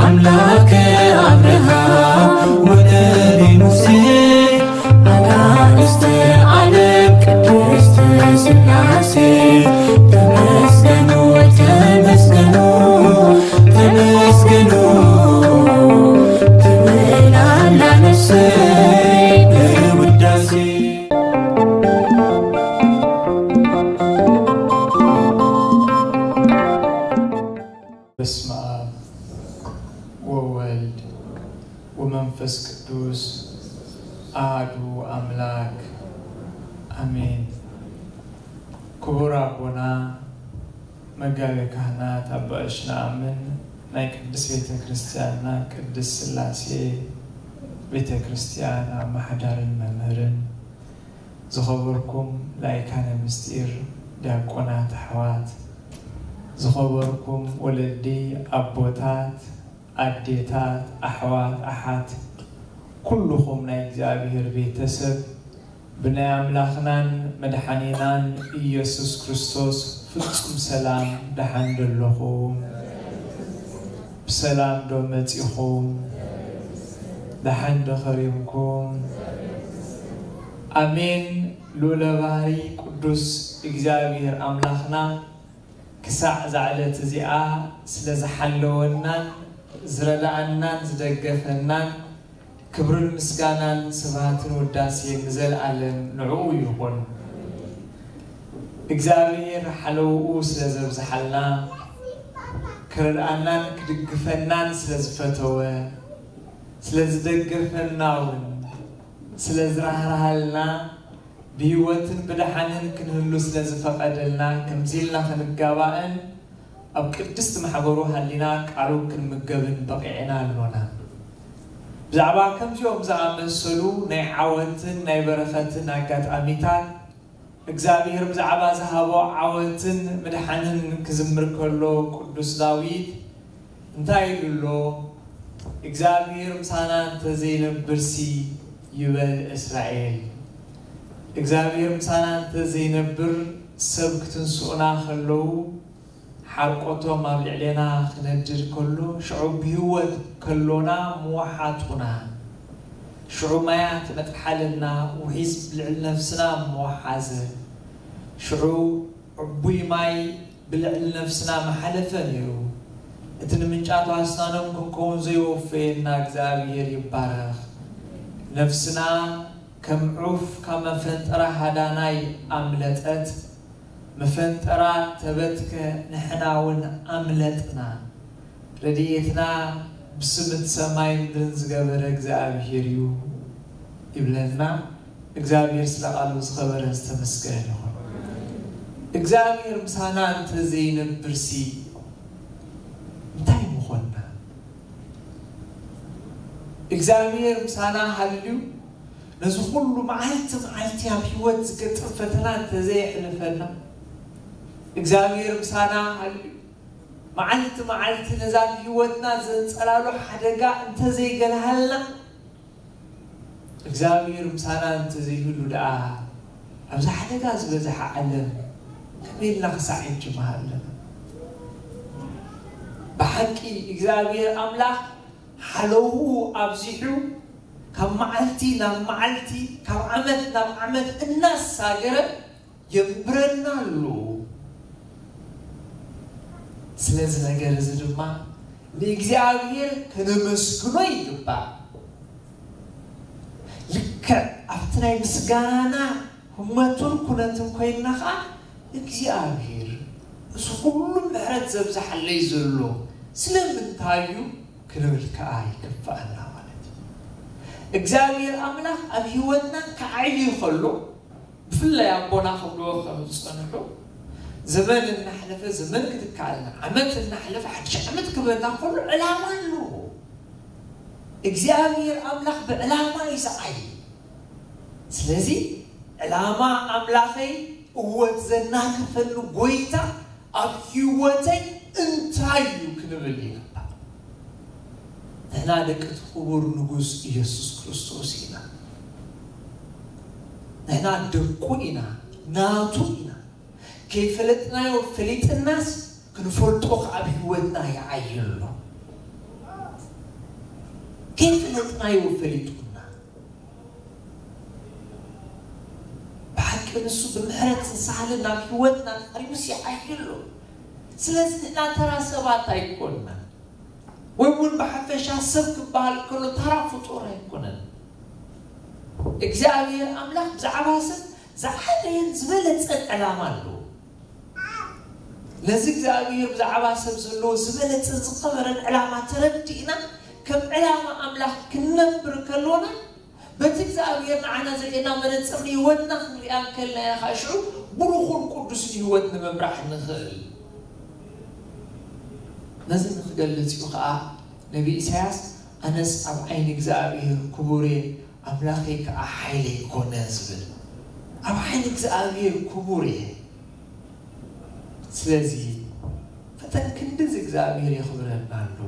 ኣምላከ ኣብርሃም ወደቤ ሙሴ ኣናእስተ ዓለም ቅድስት ሥላሴ ተመስገኑ ተመስገኑ ተመስገኑ ትብል ኣላ ነፍሰይ ብውዳሴ። በስመ አብ ወወልድ ወመንፈስ ቅዱስ አሐዱ አምላክ አሜን። ክቡር ኣቦና መጋቤ ካህናት ኣባ እሽነኣምን ናይ ቅድስት ቤተ ክርስቲያንና ቅድስት ሥላሴ ቤተ ክርስቲያን ኣመሓዳርን መምህርን፣ ዝኸበርኩም ላይካነ ምስጢር ዲያቆናት ኣሕዋት፣ ዝኸበርኩም ወለዲ ኣቦታት፣ ኣዴታት፣ ኣሕዋት፣ ኣሓት፣ ኩልኹም ናይ እግዚኣብሔር ቤተሰብ ብናይ ኣምላኽናን መድሓኒናን ኢየሱስ ክርስቶስ ፍጹም ሰላም ደሓን ደለኹም? ብሰላም ዶ መጺኹም? ደሓን ዶ ከሪምኩም? ኣሜን። ልዑለ ባህሪ ቅዱስ እግዚኣብሔር ኣምላኽና ክሳዕ እዛ ዕለት እዚኣ ስለ ዝሓለወናን ዝረድኣናን ዝደገፈናን ክብርን ምስጋናን ስብሃትን ውዳሴን ንዘለኣለም ንዕኡ ይኹን። እግዚኣብሔር ሓለውኡ ስለ ዘብዝሓልና፣ ክረድኣናን ክድግፈናን ስለ ዝፈተወ፣ ስለ ዝደገፈና እውን ስለ ዝራህርሃልና፣ ብህይወትን ብደሓንን ክንህሉ ስለ ዝፈቐደልና፣ ከምዚ ኢልና ክንጋባእን ኣብ ቅድስት ማሕበሩ ሃሊና ቃሉ ክንምገብን በቒዕና ኣሎና። ብዛዕባ ከምዚኦም ዝኣመሰሉ ናይ ዓወትን ናይ በረኸትን ኣጋጣሚታት፣ እግዚኣብሔር ብዛዕባ ዝሃቦ ዓወትን ምድሓንን ክዝምር ከሎ ቅዱስ ዳዊት እንታይ ኢሉ ኣሎ? እግዚኣብሔር ምሳና እንተዘይነብርሲ ይበል እስራኤል። እግዚኣብሔር ምሳና እንተዘይነብር ሰብ ክትንስኡና ከለዉ ሓርቆቶም ኣብ ልዕሌና ክነድድ ከሎ ሽዑ ብህይወት ከሎና ምወሓጡና። ሽዑ ማያት መጥሓለልና ውሒዝ ልዕሊ ነፍስና ምወሓዘ። ሽዑ ዕቡይ ማይ ብልዕሊ ነፍስና ምሓለፈ ነይሩ። እቲ ንምንጫቱ ኣስናኖም ክንከውን ዘይወፈየና እግዚኣብሔር ይባረኽ። ነፍስና ከም ዑፍ ካብ መፈንጠራ ሃዳናይ ኣምለጠት። መፈንጠራ ተበትከ ንሕና እውን ኣምለጥና። ረድኤትና ብስም እቲ ሰማይ ምድርን ዝገበረ እግዚኣብሔር እዩ ይብለና። እግዚኣብሔር ስለ ቃሉ ዝኸበረ ዝተመስገነ ይኹን። እግዚኣብሔር ምሳና እንተዘይነብርሲ እንታይ ምኾንና? እግዚኣብሔር ምሳና ሃልዩ ነዚ ኩሉ መዓልቲ መዓልቲ ኣብ ህይወት ዝገጥም ፈተና እንተዘየሕልፈና፣ እግዚኣብሔር ምሳና ሃልዩ መዓልቲ መዓልቲ ነዛ ኣብ ህይወትና ዘንጸላሉ ሓደጋ እንተዘይገለሃልና፣ እግዚኣብሔር ምሳና እንተዘይህሉ ደኣ ኣብዚ ሓደጋ ዝበዝሐ ዓለም ከመይ ኢልና ክሳዕ ሕጂ ምሃለና? ብሓቂ እግዚኣብሔር ኣምላኽ ሓለውኡ ኣብዚሑ ካብ መዓልቲ ናብ መዓልቲ ካብ ዓመት ናብ ዓመት እናሳገረ የንብረና ኣሎ። ስለዚ ነገር እዚ ድማ ንእግዚኣብሔር ከነመስግኖ ይግባእ። ልክዕ ኣብቲ ናይ ምስጋናና ህሞትን ኩነትን ኮይንና ኸዓ እግዚኣብሔር እዚ ኩሉ ምሕረት ዘብዝሓለይ ዘሎ ስለምንታይ እዩ ክንብል ከኣ ይግብኣና ማለት እዩ። እግዚኣብሔር ኣምላኽ ኣብ ህይወትና ክዓቢ ከሎ ብፍላይ ኣቦና ክብልዎ ከም ዝጸንሑ ዘመን እናሕለፈ ዘመን ክትካልና ዓመት እናሕለፈ ሓድሽ ዓመት ክበና ከሎ ዕላማ ኣለዎ። እግዚኣብሔር ኣምላኽ ብዕላማ እዩ ዝዓይ። ስለዚ ዕላማ ኣምላኸይ እወት ዘናግፈሉ ጎይታ ኣብ ህይወተይ እንታይ እዩ ክንብል ይግባእ። ንሕና ደቂ እቲ ክቡር ንጉስ ኢየሱስ ክርስቶስ ኢና። ንሕና ደቁ ኢና፣ ናቱ ኢና። ከይፈለጥናዮ ፈሊጥናስ ክንፈልጦ ከኣ ኣብ ህይወትና ይዓይ ኣሎ። ከይፍለጥናዮ ፈሊጡና። ብሓቂ ንሱ ብምሕረትን ሳህልን ናብ ህይወትና ቀሪቡስ ይዓይሎ። ስለዚ ንሕና ተራ ሰባት ኣይኮንና፣ ወይ እውን ብሓፈሻ ሰብ ክበሃል ከሎ ተራ ፍጡር ኣይኮነን። እግዚኣብሔር ኣምላኽ ብዛዕባ ሰብ ዝዓበየን ዝበለጸን ዕላማ ኣለዎ። ነዚ እግዚኣብሔር ብዛዕባ ሰብ ዘለዎ ዝበለጸን ዝኸበረን ዕላማ ተረዲእና፣ ከም ዕላማ ኣምላኽ ክንነብር ከሎና፣ በቲ እግዚኣብሔር ንዓና ዘርእየና መነጽር ንህይወትና ክንሪኣ እንከለና ኢና፣ ከዓ ሽዑ ብሩኹን ቅዱስን ህይወት ንምምራሕ ንኽእል። ነዚ ንክገልጽ እዩ ከዓ ነቢ ኢሳያስ፣ "ኣነስ ኣብ ዓይኒ እግዚኣብሔር ክቡር እየ፣ ኣምላኸይ ከዓ ሓይለይ ኮነ" ዝብል። ኣብ ዓይኒ እግዚኣብሔር ክቡር እየ። ስለዚ ፈተን ክንድዚ እግዚኣብሔር የኽብረና ኣሎ።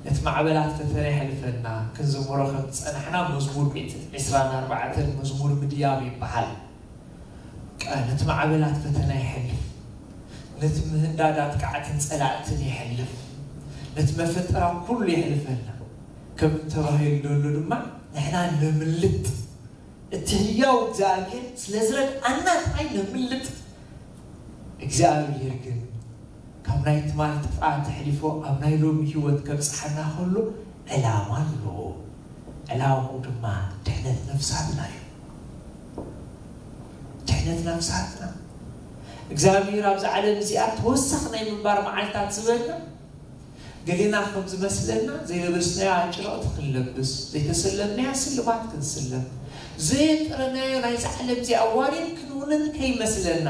ነቲ ማዕበላት ፈተነ የሕልፈና። ክንዝምሮ ከም ዝጸናሕና መዝሙር ሚእትን ዕስራን ኣርባዕተን መዝሙር ምድያብ ይበሃል። ቃ-፣ ነቲ ማዕበላት ፈተና የሕልፍ፣ ነቲ ምህንዳድ ኣጥቃዕትን ጸላእትን የሕልፍ፣ ነቲ መፈጠራ ኩሉ የሕልፈና። ከም ተባሂሉ ዘሎ ድማ ንሕና ንምልጥ፣ እቲ ህያው እግዚኣብሔር ስለ ዝረድኣና ጥራይ ንምልጥ። እግዚኣብሔር ግን ካብ ናይ ትማል ጥፍኣት ኣሕሊፎ ኣብ ናይ ሎሚ ህይወት ከብጽሓና ከሎ ዕላማ ኣለዎ። ዕላምኡ ድማ ድሕነት ነፍሳትና እዩ። ድሕነት ነፍሳትና። እግዚኣብሔር ኣብዛ ዓለም እዚኣ ተወሳኺ ናይ ምንባር መዓልታት ዝበልና፣ ገሌና ከም ዝመስለና ዘይለበስናያ ጭርቕቲ ክንለብስ፣ ዘይተሰለምናያ ስልማት ክንስለም፣ ዘየጥረናዮ ናይዛ ዓለም እዚኣ ዋኒን ክንውንን ከይመስለና።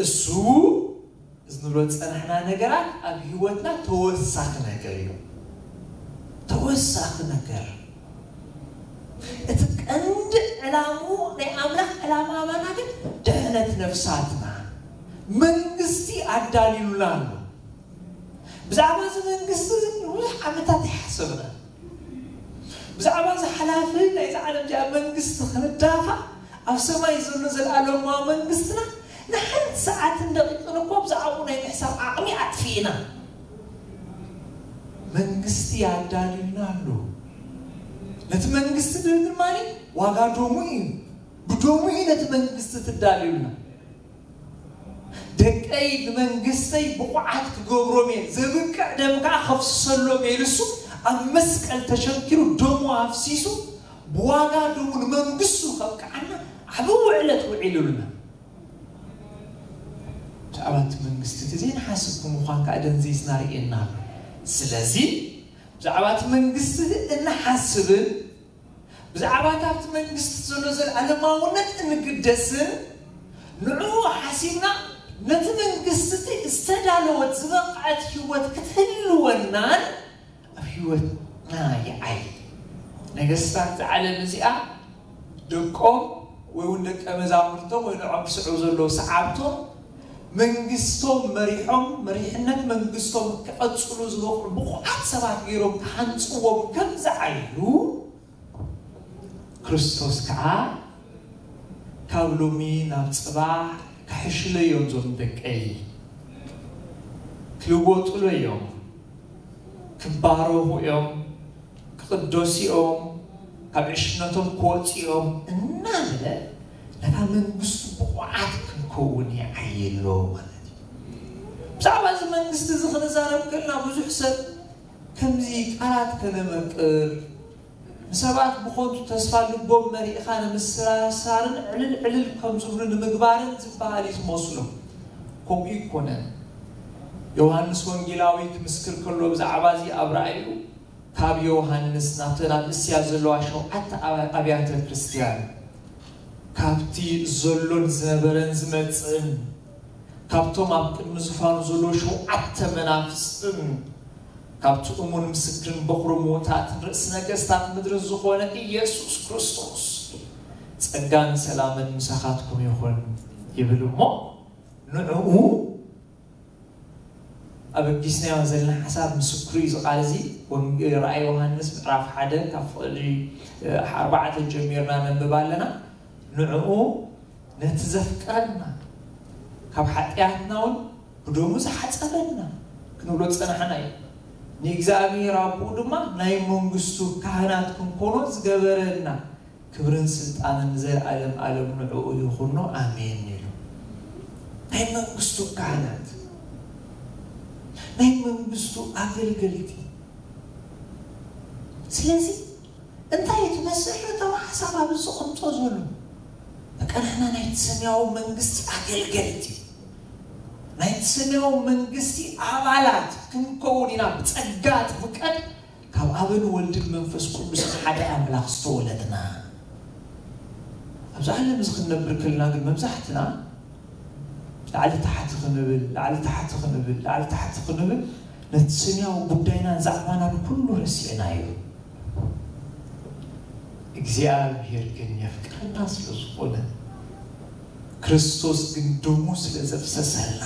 እሱ እዚ ንብሎ ዝጸናሕና ነገራት ኣብ ህይወትና ተወሳኺ ነገር እዩ። ተወሳኺ ነገር። እቲ ቀንዲ ዕላምኡ፣ ናይ ኣምላኽ ዕላማ ኣባና ግን ድሕነት ነፍሳትና፣ መንግስቲ ኣዳልዩልና ኣሎ። ብዛዕባ እዚ መንግስቲ እዚ ንብዙሕ ዓመታት ይሓሰብና። ብዛዕባ እዚ ሓላፊ ናይዚ ዓለም እዚኣ መንግስቲ ክንዳፋዕ፣ ኣብ ሰማይ ዘሎ ዘለኣለማዊ መንግስትና ንሓንቲ ሰዓትን ደቂቕን እኮ ብዛዕባኡ ናይ ምሕሳብ ዓቕሚ ኣጥፊእና። መንግስቲ ኣዳልዩልና ኣሎ። ነቲ መንግስቲ ድማ ዋጋ ደሙ እዩ። ብደሙ እዩ ነቲ መንግስቲ ትዳልዩልና። ደቀይ ንመንግስተይ ብቑዓት ክገብሮም እየ፣ ዘብቅዕ ደም ከዓ ከፍስሰሎም እየ ኢሉ እሱ ኣብ መስቀል ተሸንኪሩ ደሙ ኣፍሲሱ ብዋጋ ደሙ ንመንግስቱ ከብቅዓና ዓቢ ውዕለት ውዒሉልና። ብዛዕባ እቲ መንግስቲ እቲ ዘይንሓስብ ብምዃን ከዓ ደንዚዝና ርእየና ኣሎ። ስለዚ ብዛዕባ እቲ መንግስቲ እንሓስብን ብዛዕባ እታ ኣብቲ መንግስቲ ዘሎ ዘለኣለማውነት እንግደስን ንዕኡ ሓሲብና ነቲ መንግስቲ እቲ ዝተዳለወት ዝበቕዐት ህይወት ክትህልወናን ኣብ ህይወትና ይዓይ። ነገስታት እዛ ዓለም እዚኣ ደቆም ወይ እውን ደቀ መዛሙርቶም ወይ ንዖም ዝስዕቡ ዘለዉ ሰዓብቶም መንግስቶም መሪሖም፣ መሪሕነት መንግስቶም ክቐጽሉ ዝበቕዑ ብቑዓት ሰባት ገይሮም ክሃንጽዎም ከም ዝዓይሉ፣ ክርስቶስ ከዓ ካብ ሎሚ ናብ ጽባሕ ክሕሽለዮም እዞም ደቀይ፣ ክልወጡለዮም፣ ክባረኹ እዮም፣ ክቕደሱ እዮም፣ ካብ ዕሽነቶም ክወፁ እዮም እናበለ ነታ መንግስቱ ብቑዓት ክንከውን ይዓየሎ ማለት እዩ። ብዛዕባ እዚ መንግስቲ እዚ ክንዛረብ ከለና ብዙሕ ሰብ ከምዚ ቃላት ከነመቅር፣ ንሰባት ብኾንቱ ተስፋ ልቦም መሪእኻ ንምስራሳርን ዕልል ዕልል ከም ዝብሉ ንምግባርን ዝበሃል እዩ ዝመስሎም። ከምኡ ይኮነን። ዮሃንስ ወንጌላዊ ክምስክር ከሎ ብዛዕባ እዚ ኣብ ራእዩ ካብ ዮሃንስ ናብተን ኣብ እስያ ዘለዋ ሸውዓተ ኣብ-፣ ኣብያተ ክርስቲያን ካብቲ ዘሎን ዝነበረን ዝመጽእን ካብቶም ኣብ ቅድሚ ዝፋኑ ዘለዉ ሸውዓተ መናፍስትን ካብቲ እሙን ምስክርን በኹሪ ምውታትን ርእሲ ነገስታት ምድርን ዝኾነ ኢየሱስ ክርስቶስ ጸጋን ሰላምን ምሳኻትኩም ይኹን ይብል እሞ ንዕኡ ኣበጊስናዮ ዘለና ሓሳብ ምስክሩ እዩ። እዚ ቃል እዚ ወንጌ-፣ ራእይ ዮሃንስ ምዕራፍ ሓደ ካብ ፍቕዲ፣ እ፣ ኣርባዕተ ጀሚርና ነንብብ ኣለና። ንዕኡ ነቲ ዘፍቀረና ካብ ሓጢኣትና እውን ብደሙ ዝሓጸበና ክንብሎ ዝጸናሕና እዩ። ንእግዚኣብሔር ኣቦኡ ድማ ናይ መንግስቱ ካህናት ክንኮኖ ዝገበረና፣ ክብርን ስልጣንን ንዘለኣለም ኣለም ንዕኡ ይኹኖ፣ ኣሜን ኢሉ። ናይ መንግስቱ ካህናት፣ ናይ መንግስቱ ኣገልገልቲ። ስለዚ እንታይ እዩ እቲ መሰረታዊ ሓሳብ ኣብዚ ዝቕምጦ ዘሎ? በቃ ንሕና ናይቲ ሰማያዊ መንግስቲ ኣገልገልቲ፣ ናይቲ ሰማያዊ መንግስቲ ኣባላት ክንከውን ኢና። ብጸጋ ትፍቀድ፣ ካብ ኣብን ወልድን መንፈስ ቅዱስ ሓደ ኣምላኽ ዝተወለድና። ኣብዚ ዓለም እዚ ክንነብር ከለና ግን መብዛሕትና ላዕሊ ታሕቲ ክንብል፣ ላዕሊ ታሕቲ ክንብል፣ ላዕሊ ታሕቲ ክንብል፣ ነቲ ስንያዊ ጉዳይናን ዛዕባናን ኩሉ ረሲዕናዮ። እግዚኣብሔር ግን የፍቅረና ስለ ዝኾነ፣ ክርስቶስ ግን ደሙ ስለ ዘፍሰሰልና፣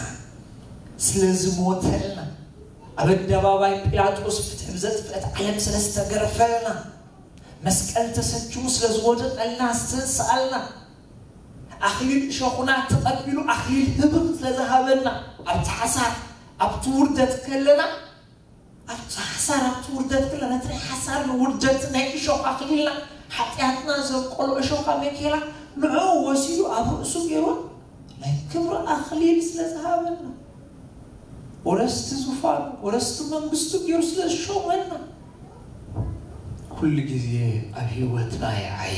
ስለ ዝሞተልና፣ ኣብ ኣደባባይ ጲላጦስ ፍትሒ ብዘጥፍአት ዓለም ስለ ዝተገረፈልና፣ መስቀል ተሰኪሙ ስለ ዝወደቐልና፣ ዝተንስኣልና፣ ኣኽሊል እሾኹና ተቐቢሉ ኣኽሊል ህብኽ ስለ ዝሃበና፣ ኣብቲ ሓሳር ኣብቲ ውርደት ከለና፣ ኣብቲ ሓሳር ኣብቲ ውርደት ከለና፣ ነቲ ናይ ሓሳር ውርደት ናይ እሾኽ ኣኽሊልና፣ ሓጢኣትና ዘብቆሎ እሾኻ መኬላ ንዕኡ ወሲዱ ኣብ ርእሱ ገይሩ ናይ ክብሪ ኣኽሊል ስለ ዝሃበና፣ ወረስቲ ዙፋኑ፣ ወረስቲ መንግስቱ ገይሩ ስለ ዝሾመና፣ ኩሉ ግዜ ኣብ ህይወትና ይዓዪ።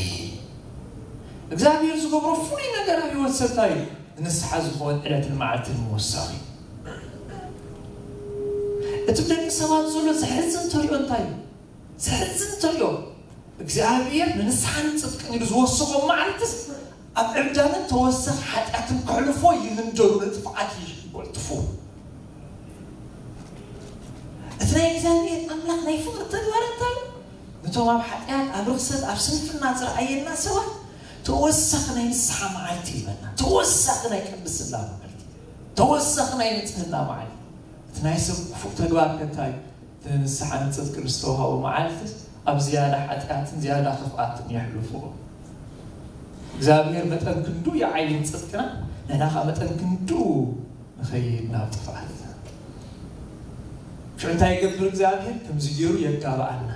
እግዚኣብሔር ዝገብሮ ፍሉይ ነገር ኣብ ህይወት ሰብ እንታይ እዩ? ንስሓ ዝኸውን ዕለትን መዓልትን ምውሳኽ እዩ። እቲ ደቂ ሰባት ዘሎ ዘሕዝን ተሪኦ እንታይ እዩ? ዘሕዝን ተሪኦ፣ እግዚኣብሔር ንንስሓን ንጽድቅን ኢሉ ዝወሰኾም መዓልትስ፣ ኣብ ዕብዳንን ተወሳኺ ሓጢኣትን ከሕልፎ ይህንደሩ፣ ንጥፍኣት ይጎልጥፉ። እቲ ናይ እግዚኣብሔር ኣምላኽ ናይ ፍቕሪ ተግባር እንታይ እዩ? ነቶም ኣብ ሓጢኣት፣ ኣብ ርኽሰት፣ ኣብ ስንፍና ዝረኣየና ሰባት ተወሳኺ ናይ ንስሓ መዓልቲ ይበና፣ ተወሳኺ ናይ ቅድስና መዓልቲ፣ ተወሳኺ ናይ ንጽህና መዓልቲ። እቲ ናይ ሰብ ክፉእ ተግባር ከ እንታይ እዩ? እቲ ንስሓ ንጽድቅን ዝተዋህቦ መዓልትስ ኣብ ዝያዳ ሓጢኣትን ዝያዳ ክፍኣትን የሕልፍዎ። እግዚኣብሔር መጠን ክንዱ ይዓይን ጽድቅና፣ ንሕና ኸዓ መጠን ክንዱ ንኸይድ ናብ ጥፍኣት። ሽዑ እንታይ ይገብር እግዚኣብሔር? ከምዚ ገይሩ የጋብኣና።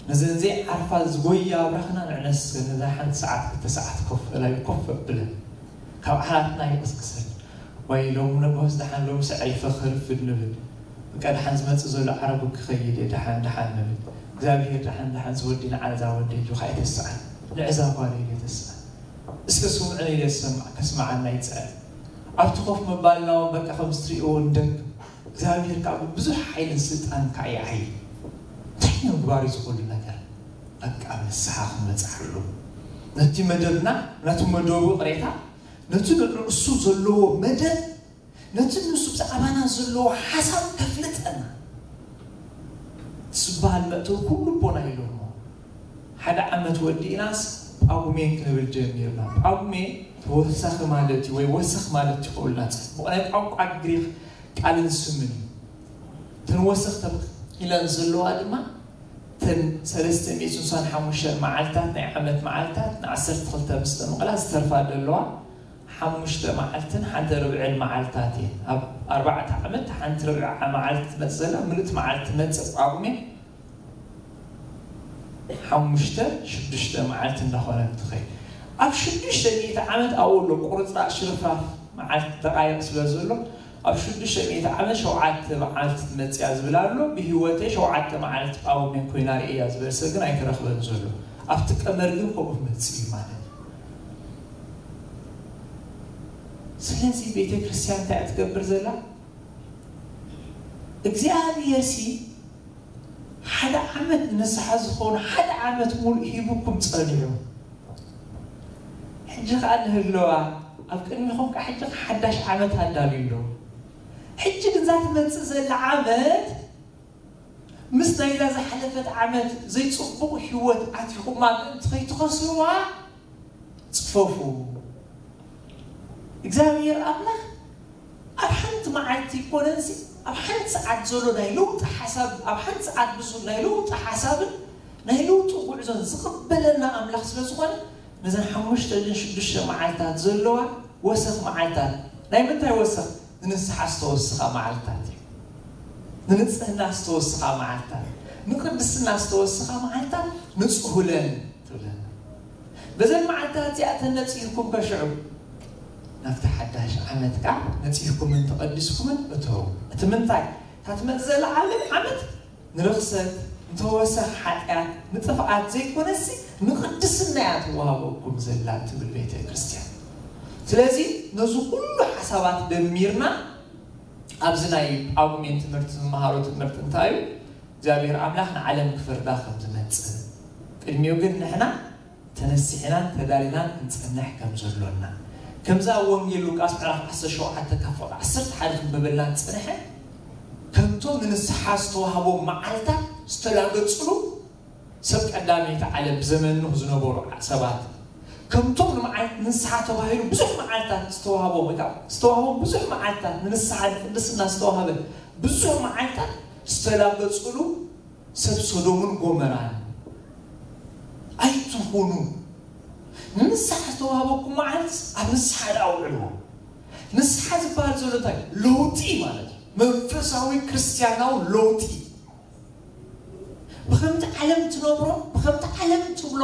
ነዘን ዘይዓርፋ ዝጎያ ኣብራኽና ንዕነስ ነዛ ሓንቲ ሰዓት ክልተ ሰዓት ኮፍ እላይ ኮፍ ኣብለን። ካብ ዓራትና ይቕስቅሰን። ዋይ ሎሚ ነጎስ ደሓን ሎምስ ኣዕሪፈ ክርፍድ ንብል። በቃ ደሓን ዝመጽእ ዘሎ ዓረቡ ክኸይድ እየ፣ ደሓን ደሓን ንብል። እግዚኣብሔር ደሓን ደሓን ዝወዲ ንዓዛ ወዲ ኢሉ ኸዓ ኣይተስኣን። ንዕዛ ጓል ኢሉ ኣይተስኣን። እስከ ስምዑኒ ኢለ ዝሰምዕ ከስምዓና ይጽዕር። ኣብቲ ኮፍ ምባልና እውን በቃ ከም እትርእይዎ ንደክም። እግዚኣብሔር ከዓ ብብዙሕ ሓይልን ስልጣን ከዓ ይዓዪ። እንታይ ንምግባር እዩ ዝኽእሉ ነገር? በቃ ንስሓ ክንመጽኣሉ። ነቲ መደብና፣ ነቲ መደቡ ይቕሬታ፣ ነቲ ንዕኡ እሱ ዘለዎ መደብ፣ ነቲ ንሱ ብዛዕባና ዘለዎ ሓሳብ ከፍልጠና። ዝበሃል መእተዊ ኩሉ ቦና ኢሎሞ። ሓደ ዓመት ወዲእናስ ጳጉሜን ክንብል ጀሚርና። ጳጉሜ ተወሳኺ ማለት እዩ ወይ ወሰኽ ማለት ይኸውልና። ጽቡቕ ናይ ቋንቋ ግሪኽ ቃልን ስምን እዩ። እተን ወሰኽ ተበቒለን ዘለዋ ድማ እተን ሰለስተ ሚእትን ስሳን ሓሙሽተን መዓልታት ናይ ዓመት መዓልታት ንዓሰርተ ክልተ ምስ ተመቐላ ዝተርፋ ዘለዋ ሓሙሽተ መዓልትን ሓንቲ ርብዕን መዓልታት እየን። ኣብ ኣርባዕተ ዓመት ሓንቲ ርብዒ መዓልቲ ትመጽእ ዘላ፣ ምልእቲ መዓልቲ ትመጽእ ጳጉሜ ሓሙሽተ ሽዱሽተ መዓልቲ እንዳኾነት ትኸይድ። ኣብ ሽዱሽተ ሚእቲ ዓመት ኣብኡ ኣሎ ቁርጽራጽ ሽርፍራፍ መዓልቲ ተቓየቕ ስለ ዘሎ፣ ኣብ ሽዱሽተ ሚእቲ ዓመት ሸውዓተ መዓልቲ ትመጽእ እያ ዝብል ኣሎ። ብህይወተይ ሸውዓተ መዓልቲ ጳጉሜን ኮይና ርእየያ ዝበል ሰብ ግን ኣይተረኽበን ዘሎ። ኣብቲ ቀመር ግን ከምኡ መጽእ እዩ ማለት እዩ። ስለዚ ቤተ ክርስቲያን እንታይ እያ ትገብር ዘላ? እግዚኣብሔር ሲ ሓደ ዓመት ንስሓ ዝኾኑ ሓደ ዓመት ሙሉእ ሂቡኩም ጸኒሑ። ሕጂ ኸኣ ንህለዋ ኣብ ቅድሚኹም ከዓ ሕጂ ሓዳሽ ዓመት ኣዳልዩ ኣሎ። ሕጂ ግን እዛ ትመጽእ ዘላ ዓመት ምስ ናይዛ ዝሓለፈት ዓመት ዘይጽቡቕ ህይወት ኣቲኹማ ምእንቲ ከይትኸስርዋ ጽፈፉ። እግዚኣብሔር ኣምላኽ ኣብ ሓንቲ መዓልቲ ይኮነንሲ ኣብ ሓንቲ ሰዓት ዘሎ ናይ ለውጢ ሓሳብ፣ ኣብ ሓንቲ ሰዓት ብዝብል ናይ ለውጢ ሓሳብን ናይ ለውጢ ጉዕዞን ዝቕበለና ኣምላኽ ስለ ዝኾነ፣ ነዘን ሓሙሽተ ድን ሽዱሽተ መዓልታት ዘለዋ ወሰኽ መዓልታት፣ ናይ ምንታይ ወሰኽ? ንንስሓ ዝተወስኻ መዓልታት እዩ። ንንጽህና ዝተወስኻ መዓልታት፣ ንቅድስና ዝተወስኻ መዓልታት ንጽሁለን ትብለና። በዘን መዓልታት እዚኣተን ነጺህኩም ከሽዑ ናብቲ ሓዳሽ ዓመት ከዓ ነጺህኩምን ተቐዲስኩምን እተዉ። እቲ ምንታይ? እታ ትመጽእ ዘላ ዓለም ዓመት ንርኽሰት፣ ንተወሰኽ ሓጢኣት፣ ንጥፍኣት ዘይኮነሲ ንቕድስና እያ ትወሃበኩም ዘላ ትብል ቤተ ክርስቲያን። ስለዚ ነዚ ኩሉ ሓሳባት ደሚርና ኣብዚ ናይ ጳጉሜን ትምህርቲ ዝመሃሮ ትምህርቲ እንታይ እዩ? እግዚኣብሔር ኣምላኽ ንዓለም ክፈርዳ ከም ዝመጽእ፣ ቅድሚኡ ግን ንሕና ተነሲሕናን ተዳሊናን ክንጸንሕ ከም ዘሎና፣ ከምዛ ኣብ ወንጌል ሉቃስ ምዕራፍ ዓሰርተ ሸውዓተ ካብ ፍቕዲ ዓሰርተ ሓደ ክንብበልና ዝጸንሐ፣ ከምቶም ንንስሓ ዝተዋህቦም መዓልታት ዝተላገጽሉ ሰብ ቀዳመይቲ ዓለም ብዘመን ኖህ ዝነበሩ ሰባት፣ ከምቶም ንመዓልት ንስሓ ተባሂሉ ብዙሕ መዓልታት ዝተዋህቦም፣ ወይ ከዓ ዝተዋህቦም ብዙሕ መዓልታት ንንስሓ ንቅድስና ዝተዋህበ ብዙሕ መዓልታት ዝተላገጽሉ ሰብ ሶዶምን ጎመራን ኣይትኹኑ። ንንስሓ ዝተዋህበኩም መዓልት ኣብ ንስሓ ደኣ ኣውዕልዎ። ንስሓ ዝበሃል ዘሎ እንታይ? ለውጢ ማለት እዩ። መንፈሳዊ ክርስቲያናዊ ለውጢ። ብኸምቲ ዓለም ትነብሮ፣ ብኸምቲ ዓለም ትብሎ፣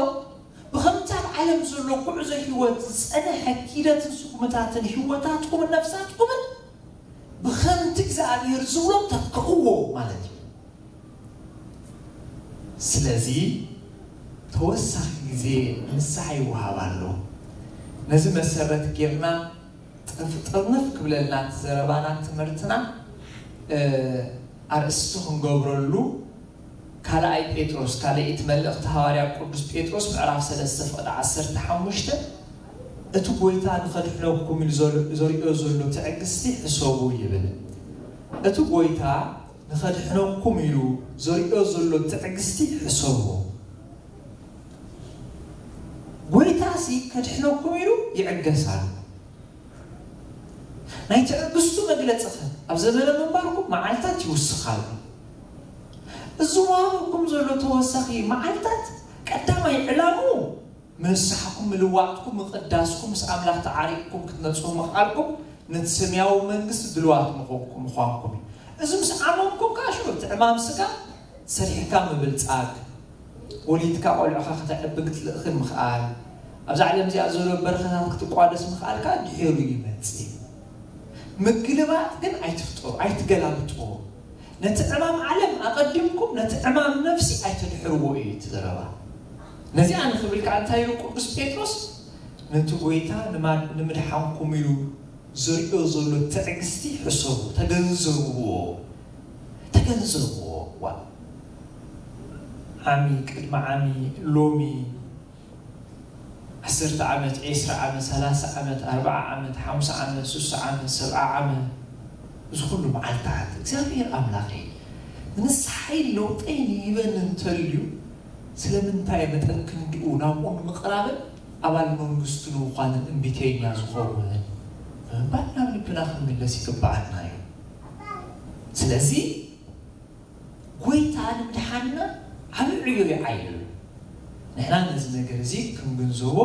ብኸምቲ ኣብ ዓለም ዘሎ ጉዕዞ ህይወት ዝጸንሐ ኪደትን ስጉምታትን ህይወታትኩምን ነፍሳትኩምን ብኸምቲ እግዚኣብሔር ዝብሎ ተክእዎ ማለት እዩ። ስለዚ ተወሳኺ ግዜ ንስሓ ይወሃብ ኣሎ። ነዚ መሰረት ጌርና ጥፍ-፣ ጥርንፍ ክብለልና እቲ ዘረባና ትምህርትና፣ እ፣ ኣርእስቲ ክንገብረሉ ካልኣይ ጴጥሮስ፣ ካልኣይቲ መልእኽቲ ሃዋርያ ቅዱስ ጴጥሮስ ምዕራፍ ሰለስተ ፍቕዲ ዓሰርተ ሓሙሽተ፣ እቲ ጎይታ ንኸድሕነኩም ኢሉ ዘር-፣ ዘርእዮ ዘሎ ትዕግስቲ ሕሰቡ ይብል። እቲ ጎይታ ንኸድሕነኩም ኢሉ ዘርእዮ ዘሎ ትዕግስቲ ሕሰቡ። ጎይታሲ ከድሕነኩም ኢሉ ይዕገስ ኣሎ። ናይ ትዕግስቱ መግለጺ ኸ ኣብ ዘመነ ምንባርኩም መዓልታት ይውስኽ ኣሎ። እዚ ወሃበኩም ዘሎ ተወሳኺ መዓልታት ቀዳማይ ዕላምኡ ንስሓኩም ምልዋጥኩም፣ ምቕዳስኩም፣ ምስ ኣምላኽ ተዓሪቕኩም ክትነጽሁ ምኽኣልኩም፣ ነቲ ሰማያዊ መንግስቲ ድልዋት ምኾንኩም፣ ምዃንኩም እዩ። እዚ ምስ ዓመምኩም ከዓ ሽዑ እቲ ዕማም ስጋ ሰሪሕካ ምብልጻግ፣ ወሊድካ ቆልዑኻ ከተዕቢ ክትልእኽን ምኽኣል፣ ኣብዛ ዓለም እዚኣ ዘሎ በረኸታት ክትቋደስ ምኽኣልካ ድሒሩ ይመጽእ። ምግልባጥ ግን ኣይትፍጠሩ፣ ኣይትገላብጥዎ። ነቲ ዕማም ዓለም ኣቐዲምኩም ነቲ ዕማም ነፍሲ ኣይተድሕርዎ እዩ እቲ ዘረባ። ነዚኣ ንኽብል ከዓ እንታይ ኢሉ ቅዱስ ጴጥሮስ? ነቲ ጎይታ ንማ-፣ ንምድሓንኩም ኢሉ ዘርእዮ ዘሎ ትዕግስቲ ሕሰቡ፣ ተገንዘብዎ፣ ተገንዘብዎ። ዋ፣ ዓሚ፣ ቅድሚ ዓሚ፣ ሎሚ፣ ዓሰርተ ዓመት፣ ዒስራ ዓመት፣ ሰላሳ ዓመት፣ ኣርብዓ ዓመት፣ ሓምሳ ዓመት፣ ሱሳ ዓመት፣ ሰብዓ ዓመት፣ እዚ ኩሉ መዓልታት እግዚኣብሔር ኣምላኸይ ንንስሓይ ለውጠይ ንሂበኒ እንተልዩ፣ ስለምንታይ መጠን ክንድኡ ናብኡ ንምቕራብን ኣባል መንግስቱ ንምዃንን እምቢተኛ ዝኸውን ብምባል ናብ ልብና ክንምለስ ይግብኣና እዩ። ስለዚ ጎይታ ንምድሓንና ዓቢ ዕዮ ይዓይሉ። ንሕና ነዚ ነገር እዚ ክንግንዘቦ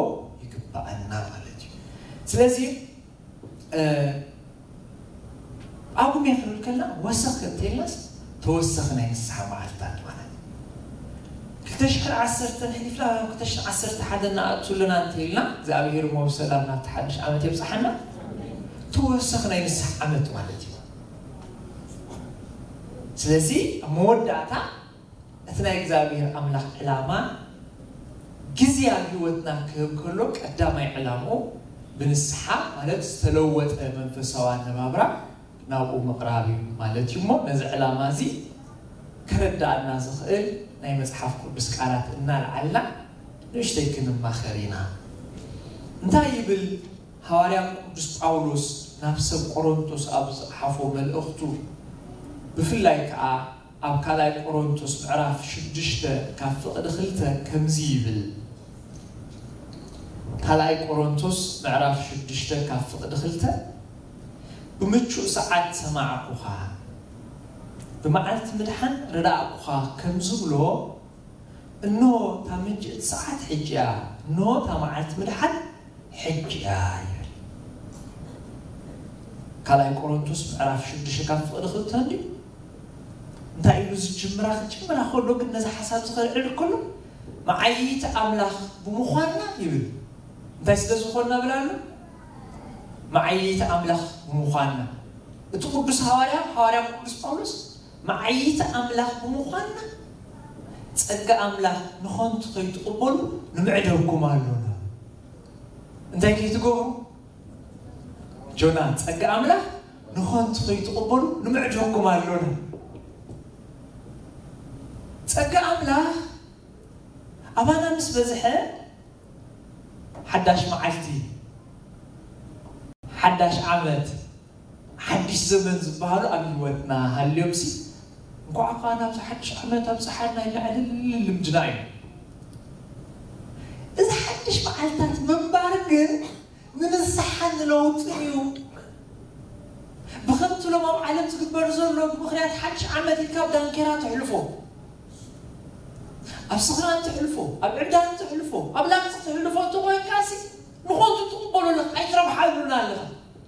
ይግብኣና ማለት እዩ። ስለዚ፣ እ፣ ጳጉሜ ክንብል ከለና ወሰኽ እንተኢልናስ ተወሰኺ ናይ ንስሓ መዓልታት ማለት እዩ። ክልተ ሽሕን ዓሰርተን ሕሊፍና፣ ክልተ ሽሕን ዓሰርተ ሓደን ንኣቱ ኣለና እንተኢልና፣ እግዚኣብሔር እሞ ብሰላም ናብቲ ሓድሽ ዓመት የብጽሓና። ተወሰኺ ናይ ንስሓ ዓመት ማለት እዩ። ስለዚ ኣብ መወዳእታ እቲ ናይ እግዚኣብሔር ኣምላኽ ዕላማ ግዜ ኣብ ህይወትና ክህብ ከሎ ቀዳማይ ዕላምኡ ብንስሓ ማለት ዝተለወጠ መንፈሳዊ ኣነባብራ ናብኡ ምቕራብ እዩ ማለት እዩ። እሞ ነዚ ዕላማ እዚ ከረዳኣና ዝኽእል ናይ መጽሓፍ ቅዱስ ቃላት እናልዓልና ንእሽተይ ክንማኸር ኢና። እንታይ ይብል ሃዋርያ ቅዱስ ጳውሎስ ናብ ሰብ ቆሮንቶስ ኣብ ዝጸሓፎ መልእኽቱ፣ ብፍላይ ከኣ ኣብ ካልኣይ ቆሮንቶስ ምዕራፍ ሽዱሽተ ካብ ፍቕዲ ክልተ ከምዚ ይብል። ካልኣይ ቆሮንቶስ ምዕራፍ ሽዱሽተ ካብ ፍቕዲ ክልተ፣ "ብምቹእ ሰዓት ሰማዕኩኻ፣ ብመዓልቲ ምድሓን ረዳእኩኻ" ከም ዝብሎ፣ እንሆ፣ እታ ምንጭ እቲ ሰዓት ሕጂ እያ፣ እንሆ፣ እታ መዓልቲ ምድሓን ሕጂ እያ ይብል። ካልኣይ ቆሮንቶስ ምዕራፍ ሽዱሽተ ካብ ፍቕዲ ክልተ እንድዩ። እንታይ ኢሉ ዝጅምራ ክጅምራ ከሎ ግን ነዚ ሓሳብ ዝኸልዕል ከሎ መዓይቲ ኣምላኽ ብምዃንና ይብል። እንታይ ስለ ዝኾንና ብላ ኣሎ? መዓይቲ ኣምላኽ ብምዃንና። እቲ ቅዱስ ሃዋርያ፣ ሃዋርያ ቅዱስ ጳውሎስ መዓይቲ ኣምላኽ ብምዃንና ጸጋ ኣምላኽ ንኸንቱ ከይትቕበሉ ንምዕደኩም ኣሎና። እንታይ ከይትገብሩ? ጆና፣ ጸጋ ኣምላኽ ንኸንቱ ከይትቕበሉ ንምዕደኩም ኣሎና። ጸጋ ኣምላኽ ኣባና ምስ በዝሐ ሓዳሽ መዓልቲ፣ ሓዳሽ ዓመት፣ ሓድሽ ዘመን ዝበሃሉ ኣብ ህይወትና ሃልዮምሲ እንኳዕ ከኣ ናብዚ ሓድሽ ዓመት ኣብጽሓና ኢልና ዕልል ልምድና እዩ። እዚ ሓድሽ መዓልታት ምንባር ግን ንንስሓ ንለውጥን እዩ። ብኸምቲ ሎም ኣብ ዓለም ዝግበር ዘሎ ብምኽንያት ሓድሽ ዓመት ኢልካ ኣብ ዳንኬራ ትሕልፎ፣ ኣብ ስኽራን ትሕልፎ፣ ኣብ ዕብዳን ትሕልፎ፣ ኣብ ላምፂ ትሕልፎ እንተኾይንካሲ ንኾንቱ ትቕበሎ ኣለኻ፣ ኣይትረብሓሉን ኣለኻ።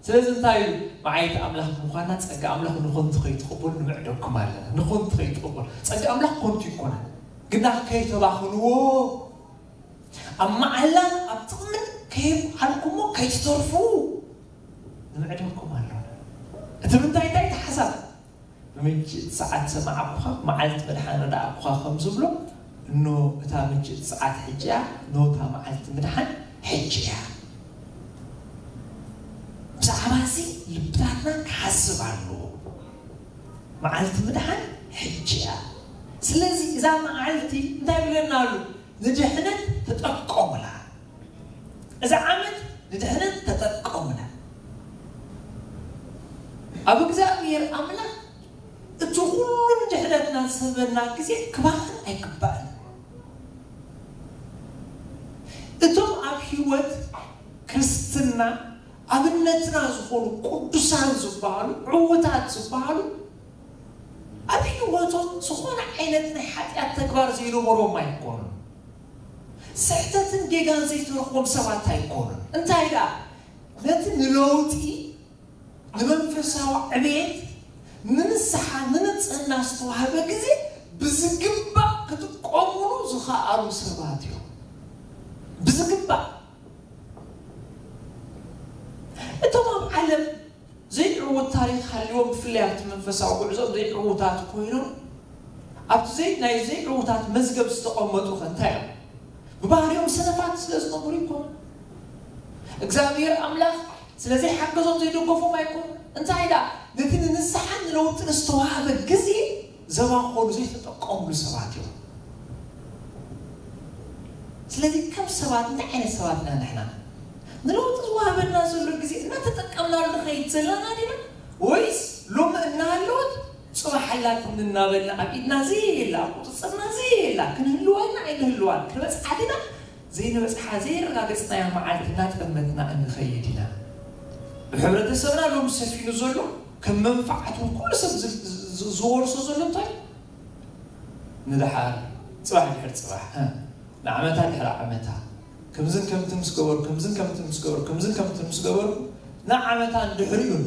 ስለዚ እንታይ እዩ? መዓይቲ ኣምላኽ ብምዃንና ጸጋ ኣምላኽ ንኾንቱ ከይትቕበሉ ንምዕደኩም ኣለና። ንኾንቱ ከይትቕበሉ። ጸጋ ኣምላኽ ኮንቱ ይኮነን። ግና ከይተባኽንዎ ኣብ መዓላን ኣብ ጥቕምን ከየብዓልኩሞ ከይትተርፉ ንምዕደኩም ኣሎ። እቲ ምንታይ እንታይ እቲ ሓሳብ? ብምችእቲ ሰዓት ሰማዕኩኻ፣ መዓልቲ ምድሓን ረዳእኩኻ ከም ዝብሎ፣ እኖ እታ ምችእቲ ሰዓት ሕጂ እያ፣ እኖ እታ መዓልቲ ምድሓን ሕጂ እያ። ብዛዕባ እዚ ልብታትና ክሓስብ ኣለዎ። መዓልቲ ምድሓን ሕጂ እያ። ስለዚ እዛ መዓልቲ እንታይ ይብለና ኣሎ? ንድሕነት ተጠቀሙላ። እዛ ዓመት ንድሕነት ተጠቀሙላ። ኣብ እግዚኣብሔር ኣምላኽ እቲ ኩሉ ንድሕነትና ዝህበና ግዜ ክባኽን ኣይግባእን። እቶም ኣብ ህይወት ክርስትና ኣብነትና ዝኾኑ ቅዱሳን ዝበሃሉ፣ ዕዉታት ዝበሃሉ፣ ኣብ ህይወቶም ዝኾነ ዓይነት ናይ ሓጢኣት ተግባር ዘይነበሮም ኣይኮኑን። ስሕተትን ጌጋን ዘይተረኽቦም ሰባት ኣይኮኑን። እንታይ ደኣ፣ ነቲ ንለውጢ፣ ንመንፈሳዊ ዕቤት፣ ንንስሓ፣ ንንጽህና ዝተዋህበ ግዜ ብዝግባእ ክጥቀሙሉ ዝኸኣሉ ሰባት እዮም። ብዝግባእ። እቶም ኣብ ዓለም ዘይዕዉት ታሪኽ ሃልዎም፣ ብፍላይ ኣብቲ መንፈሳዊ ጉዕዞም ዘይዕዉታት ኮይኖም፣ ኣብቲ ዘይ-፣ ናይ ዘይዕዉታት መዝገብ ዝተቐመጡ ኸ እንታይ እዮም? ብባህሪኦም ሰነፋት ስለ ዝነበሩ ይኮኑ። እግዚኣብሔር ኣምላኽ ስለ ዘይሓገዞም ዘይደገፎም ኣይኮኑ። እንታይ ደኣ፣ ነቲ ንንስሓን ንለውጥን ዝተዋህበ ግዜ ዘባኸኑ፣ ዘይተጠቀሙሉ ሰባት እዮም። ስለዚ ከም ሰባት እንታይ ዓይነት ሰባት ኢና ንሕና? ንለውጢ ዝወሃበና ዘሎ ግዜ እናተጠቀምናሉ ንኸይድ ዘለና ዲና? ወይስ ሎሚ እናሃለወት ጽባሕ ኣላትኒ እናበልና ኣብ ኢድና ዘየላ፣ ኣብ ቁጽጽርና ዘየላ፣ ክንህልዋ ኢና ኣይንህልዋን፣ ክንበጽሓ ዲና ዘይንበጽሓ ዘየረጋገጽናያ መዓልቲ እናጠመትና እንኸይድ ኢና? ብሕብረተሰብና ሎሚ ሰፊኑ ዘሎ ከም መንፋዓት እውን ኩሉ ሰብ ዝ-፣ ዝ-፣ ዝወርሶ ዘሎ እንታይ እዩ? ንደሓር፣ ጽባሕ ድሕሪ ጽባሕ፣ እ፣ ንዓመታ ድሕሪ ዓመታ፣ ከምዝን ከምትን ምስ ገበሩ፣ ከምዝን ከምትን ምስ ገበሩ፣ ከምዝን ከምትን ምስ ገበሩ፣ ንዓመታ ንድሕሪኡን።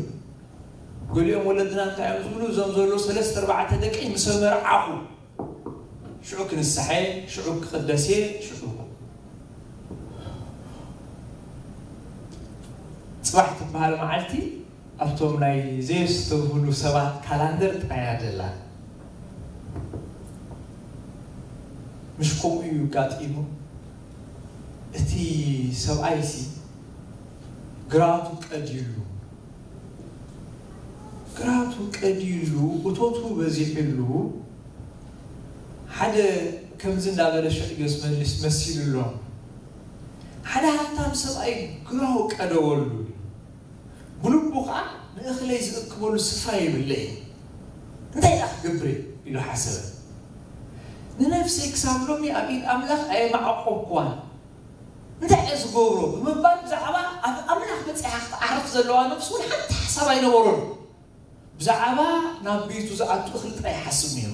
ገሊኦም ወለድና እንታይ እዮም ዝብሉ? እዞም ዘሎ ሰለስተ ኣርባዕተ ደቂ ምስ ኣመርዓኹ፣ ሽዑ ክንስሓ እየ፣ ሽዑ ክቕደስ እየ፣ ሽዑ። ጽባሕ ትበሃል መዓልቲ ኣብቶም ናይ ዘየስተብህሉ ሰባት ካላንደር ጥራይ እያ ዘላ። ምሽ ከምኡ እዩ ኣጋጢሙ። እቲ ሰብኣይሲ ግራቱ ቀድዩሉ፣ ግራቱ ቀድዩሉ፣ እቶቱ በዚሑሉ፣ ሓደ ከምዚ እንዳበለ ሽዕዮ ዝመልስ መሲሉ ኣሎ። ሓደ ሃብታም ሰብኣይ ግራው ቀደወሉ። ብልቡ ኸዓ ንእኽለይ ዝእክበሉ ስፍራ የብለይን። እንታይ ደኣ ክገብር እየ? ኢሉ ሓሰበ። ንነፍሰይ ክሳብ ሎሚ ኣብ ኢድ ኣምላኽ ኣየማዕቆብኩዋን። እንታይ እየ ዝገብሮ? ብምባል ብዛዕባ ኣብ ኣምላኽ በጺሓ ክትዓርፍ ዘለዋ ነፍሱ እውን ሓንቲ ሓሳብ ኣይነበሮን። ብዛዕባ ናብ ቤቱ ዝኣቱ እኽሊ ጥራይ ይሓስብ ነይሩ።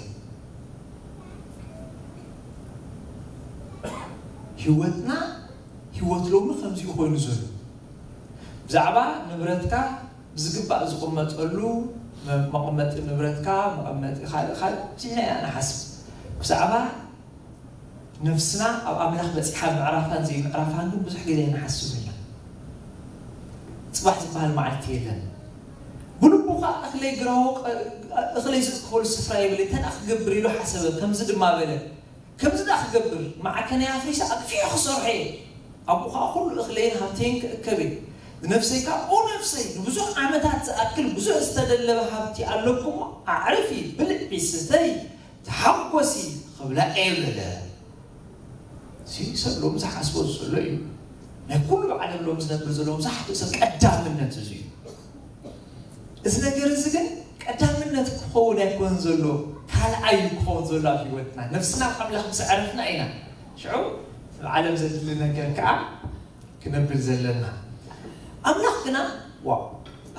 ህይወትና፣ ህይወት ሎሚ ከምዚኡ ኮይኑ ዘሎ። ብዛዕባ ንብረትካ ብዝግባእ ዝቕመጠሉ፣ መቐመጢ ንብረትካ፣ መቐመጢ ካልእ ካልእ ብዙሕ ኢና ንሓስብ። ብዛዕባ ነፍስና ኣብ ኣምላኽ በጺሓ ምዕራፋን ዘይምዕራፋን ግን ብዙሕ ግዜ ንሓስብ ኢና። ጽባሕ ዝበሃል መዓልቲ የለን። ብልቡ ኸኣ እኽለይ ግራዎ ቀ-፣ እኽለይ ዝእከበሉ ስፍራ የብለይ፣ እንታይ ደኣ ክገብር ኢሉ ሓሰበ። ከምዚ ድማ በለ፣ ከምዚ ደኣ ክገብር፣ ማዕከነይ ኣፍሪሰ ኣግፊሑ ክሰርሖ እየ። ኣብኡ ኸኣ ኹሉ እኽለይን ሃብተይን ክእከብ እየ። ንነፍሰይ ከኣ፣ ኦ ነፍሰይ፣ ንብዙሕ ዓመታት ዝኣክል ብዙሕ ዝተደለበ ሃብቲ ኣለኩሞ፣ ኣዕርፊ፣ ብልዒ፣ ስተይ፣ ተሓጎሲ ክብላ እየ በለ። እዚ ሰብ ሎሚ ዝሓስቦ ዘሎ እዩ። ናይ ኩሉ ዓለም ሎሚ ዝነብር ዘሎ መብዛሕትኡ ሰብ ቀዳምነት እዚ እዩ። እዚ ነገር እዚ ግን ቀዳምነት ክኸውን ኣይኮን ዘሎ፣ ካልኣይ እዩ ክኸውን ዘሎ ኣብ ህይወትና። ነፍስና ኣብ ኣምላኽ ምስ ኣዕረፍና ኢና ሽዑ ኣብ ዓለም ዘድሊ ነገር ከኣ ክነብል ዘለና። ኣምላኽ ግና፣ ዋው፣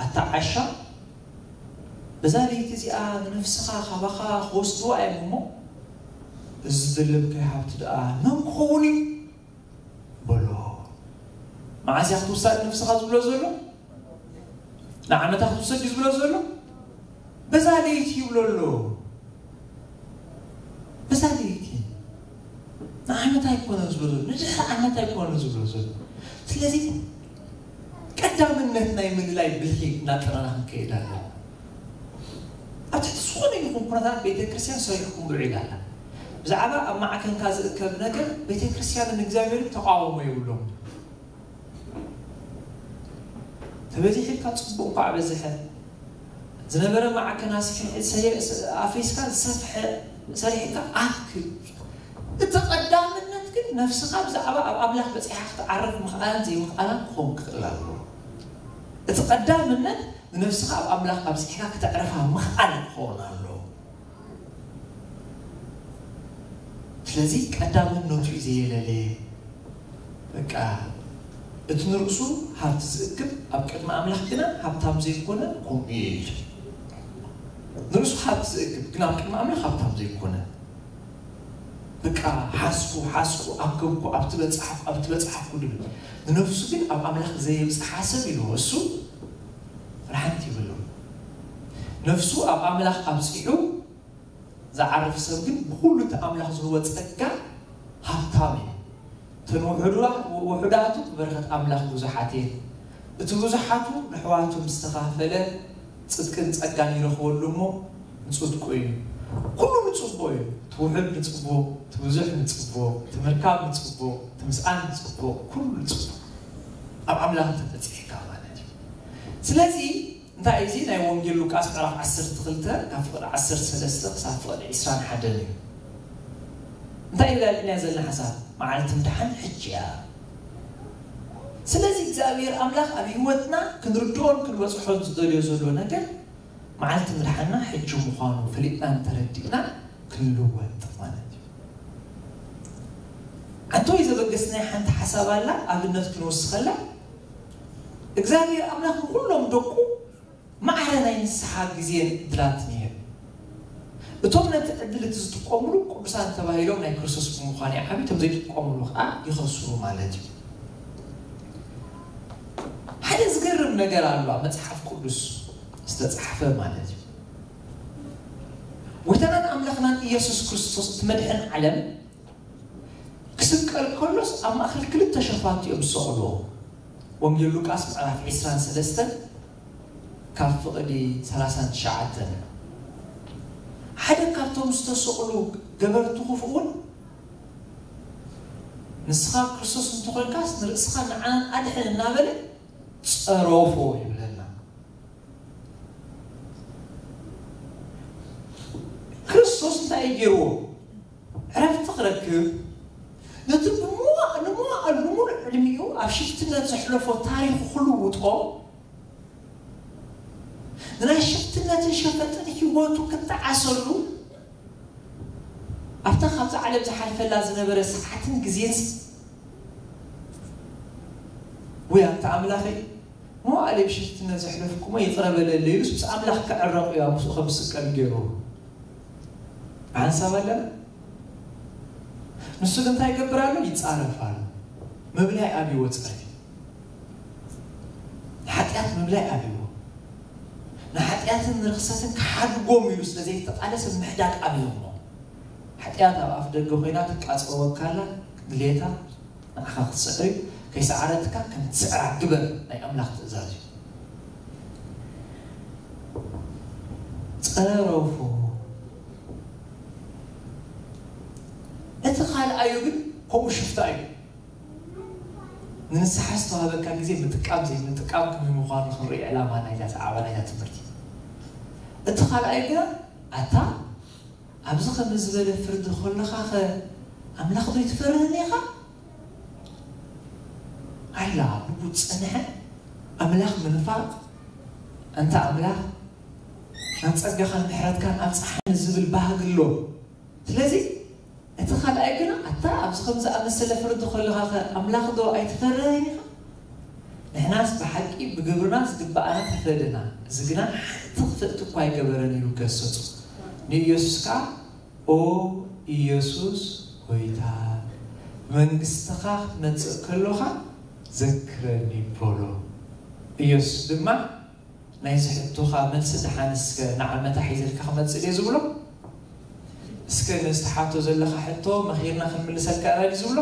ኣታ ዓሻ፣ በዛ ለይቲ እዚኣ ንነፍስኻ ካባኻ ክወስድዋ እዮም እሞ፣ እዚ ዝደለብካዮ ሃብቲ ደኣ መን ክኸውን እዩ? በሎ። መዓስ እያ ክትውሰድ ነፍስኻ ዝብሎ ዘሎ? ንዓመታ ክትውሰድ እዩ ዝብሎ ዘሎ? በዛ ለይቲ ይብሎ ኣሎ። በዛ ለይቲ። ንዓመት ኣይኮነን ዝብሎ ዘሎ፣ ንድሕሪ ዓመት ኣይኮነን ዝብሎ ዘሎ። ስለዚ ቀዳምነት ናይ ምልላይ ብልሒ እናጠረና ክንከይድ ኣለና። ኣብ ትሕቲ ዝኾነ ይኹን ኩነታት ቤተ ክርስቲያን ሰሪሕኩም ውዒላ ኣላ። ብዛዕባ ኣብ ማዕከንካ ዝእከብ ነገር ቤተ ክርስቲያንን እግዚኣብሔርን ተቃውሞ የብሎም። ተበዚሕልካ ጽቡቕ እንኳዕ በዝሐ። ዝነበረ ማዕከን ኣስፊ-፣ ሰ-፣ ኣፍሪስካ ዝሰፍሐ ሰሪሕካ ኣክል። እቲ ቀዳምነት ግን ነፍስኻ ብዛዕባ ኣብ ኣምላኽ በጺሓ ክትዓርፍ ምኽኣልን ዘይምኽኣላን ክኸውን ክኽእል ኣለዎ። እቲ ቀዳምነት ንነፍስኻ ኣብ ኣምላኽ ኣብጺሕካ ክተዕርፋ ምኽኣል ክኸውን ኣለዎ። ስለዚ ቀዳምነቱ እዩ ዘየለለየ። በቃ እቲ ንርእሱ ሃብቲ ዝእክብ ኣብ ቅድሚ ኣምላኽ ግና ሃብታም ዘይኮነ ከምኡ እዩ ኢሉ። ንርእሱ ሃብቲ ዝእክብ ግን ኣብ ቅድሚ ኣምላኽ ሃብታም ዘይኮነ። በቃ ሓዝኩ፣ ሓዝኩ፣ ኣከብኩ፣ ኣብቲ በጻሕኩ፣ ኣብቲ በጻሕኩ ድብል። ንነፍሱ ግን ኣብ ኣምላኽ ዘየብጽሓ ሰብ ኢሉ እሱ ርሓንቲ ይብሉ። ነፍሱ ኣብ ኣምላኽ ኣብጺሑ ዝዓርፍ ሰብ ግን ብኹሉ እቲ ኣምላኽ ዝህቦ ጸጋ ሃብታም እዩ። እተን ውሑዳ-፣ ውሑዳቱ በረኸት ኣምላኽ ብዙሓት እየን። እቲ ብዙሓቱ ንሕዋቱ ምስ ተኻፈለ ጽድቅን ጸጋን ይረኽበሉ እሞ ንጽድቁ እዩ። ኩሉ ንጽቦ እዩ። እቲ ውሑድ ንጽቦ፣ እቲ ብዙሕ ንጽቦ፣ እቲ ምርካብ ንጽቦ፣ እቲ ምስኣን ንጽቦ፣ ኩሉ ንጽቦ። ኣብ ኣምላኽ እንተተጽሒካ ማለት እዩ። ስለዚ እንታይ እዚ ናይ ወንጌል ሉቃስ ምዕራፍ ዓሰርተ ክልተ ካብ ፍቕዲ ዓሰርተ ሰለስተ ክሳብ ፍቕዲ ዕስራን ሓደን እዩ። እንታይ ይብለና ዘለና ሓሳብ? መዓልቲ ምድሓን ሕጂ እያ። ስለዚ እግዚኣብሔር ኣምላኽ ኣብ ህይወትና ክንርድኦን ክንበጽሖን ዝደልዮ ዘሎ ነገር መዓልቲ ምድሓንና ሕጂ ምዃኑ ፈሊጥናን ተረዲእና ክንልወጥ ማለት እዩ። ኣንቶይ ዘበገስናይ ሓንቲ ሓሳብ ኣላ፣ ኣብነት ክንወስኸላ እግዚኣብሔር ኣምላኽ ንኹሎም ደቁ ማዕረ ናይ ንስሓ ግዜን ዕድላትን ይህብ። እቶም ነቲ ዕድል እቲ ዝጥቀምሉ ቅዱሳን ተባሂሎም ናይ ክርስቶስ ብምዃን ይዓብዩ፣ እቶም ዘይጥቀምሉ ከዓ ይኸስሩ ማለት እዩ። ሓደ ዝገርም ነገር ኣሎ ኣብ መጽሓፍ ቅዱስ ዝተጻሕፈ ማለት እዩ። ጎይታናን ኣምላኽናን ኢየሱስ ክርስቶስ እቲ መድሕን ዓለም ክስቀል ከሎስ ኣብ ማእከል ክልተ ሸፋቱ እዮም ዝሰቕልዎ። ወንጌል ሉቃስ ምዕራፍ ዕስራን ሰለስተን ካብ ፍቕዲ ሰላሳን ትሽዓተን። ሓደ ካብቶም ዝተሰቕሉ ገበርቲ ክፉእ እውን ንስኻ ክርስቶስ እንተኾንካስ ንርእስኻ ንዓናን ኣድሕን እናበለ ጸረፎ ይብለና። ክርስቶስ እንታይ እዩ ገይርዎ? ዕረፍቲ ክረክብ፣ ነቲ ብመዋ-፣ ንመዋእሉ ንሙሉእ ዕድሚኡ ኣብ ሽፍትነት ዘሕለፎ ታሪኹ ክልውጦ፣ ንናይ ሽፍትነትን ሸፈጥን ህይወቱ ክጠዓሰሉ፣ ኣብታ ካብዛ ዓለም ዝሓልፈላ ዝነበረ ሰዓትን ግዜን ወይ ኣብታ ኣምላኸይ መዋእለይ ብሽፍትነት ዘሕለፍኩሞ ይቕረ በለለይ ኢሉስ ምስ ኣምላኽ ክዕረቕ እዩ ኣብ ምስኡ ከም ዝስቀል ገይሩ። ብሓንሳብ ኣለና። ንሱ ግን እንታይ ይገብር ኣሎ? ይጻረፍ ኣሎ። ምብላይ ኣብይዎ ጸርፊ። ንሓጢኣት ምብላይ ኣብይዎ። ንሓጢኣትን ንርኽሰትን ክሓድጎም ኢሉ ስለ ዘይተቓለሰ ምሕዳግ ኣብዮሞ። ሓጢኣት ኣብ ኣፍ ደገ ኮይና ትቃጸወካ ኣላ፣ ድሌታ ንዓኻ ክትስዕር እዩ። ከይሰዓረትካ ከም ትስዕራ ግበር፣ ናይ ኣምላኽ ትእዛዝ እዩ። ጸረፉ። እቲ ካልኣዩ ግን ከምኡ ሽፍታ እዩ። ንንስሓ ዝተዋህበካ ግዜ ምጥቃም ዘይምጥቃም ከመይ ምዃኑ ክንርኢ ዕላማ ናይዛ ሰዓባ ናይዛ ትምህርቲ። እቲ ካልኣይ ግና ኣታ ኣብዚ ከምዚ ዝበለ ፍርዲ ከለኻ ኸ ኣምላኽ ዶ ይትፈርህን ኢኻ? ኣይላ ብኡ ጸንሐ ኣምላኽ ምንፋቕ፣ ኣንታ ኣምላኽ ናብ ጸጋኻን ምሕረትካን ኣብጽሓኒ ዝብል ባህጊ ኣሎ። ስለዚ እቲ ካልኣይ ግና ኣታ ኣብዚ ከም ዝኣመሰለ ፍርዲ ከለኻ ኸ ኣምላኽ ዶ ኣይትፈርህን ኢኻ? ንሕናስ ብሓቂ ብግብርና ዝግብኣና ተፈደና፣ እዚ ግና ሓንቲ ክፍእቲ እኳ ኣይገበረን ኢሉ ገሰጾ። ንኢየሱስ ከኣ ኦ ኢየሱስ ጐይታ፣ መንግስትኻ ክትመጽእ ከሎኻ ዘክረኒ በሎ። ኢየሱስ ድማ ናይዚ ሕቶኻ መልሲ ደሓን እስከ ንዓመታ ሒዘልካ ክመጽእ ድየ ዝብሎ? እስከ ነዚ ትሓቶ ዘለኻ ሕቶ መኺርና ክንምልሰልካ ኢና ድዩ ዝብሎ?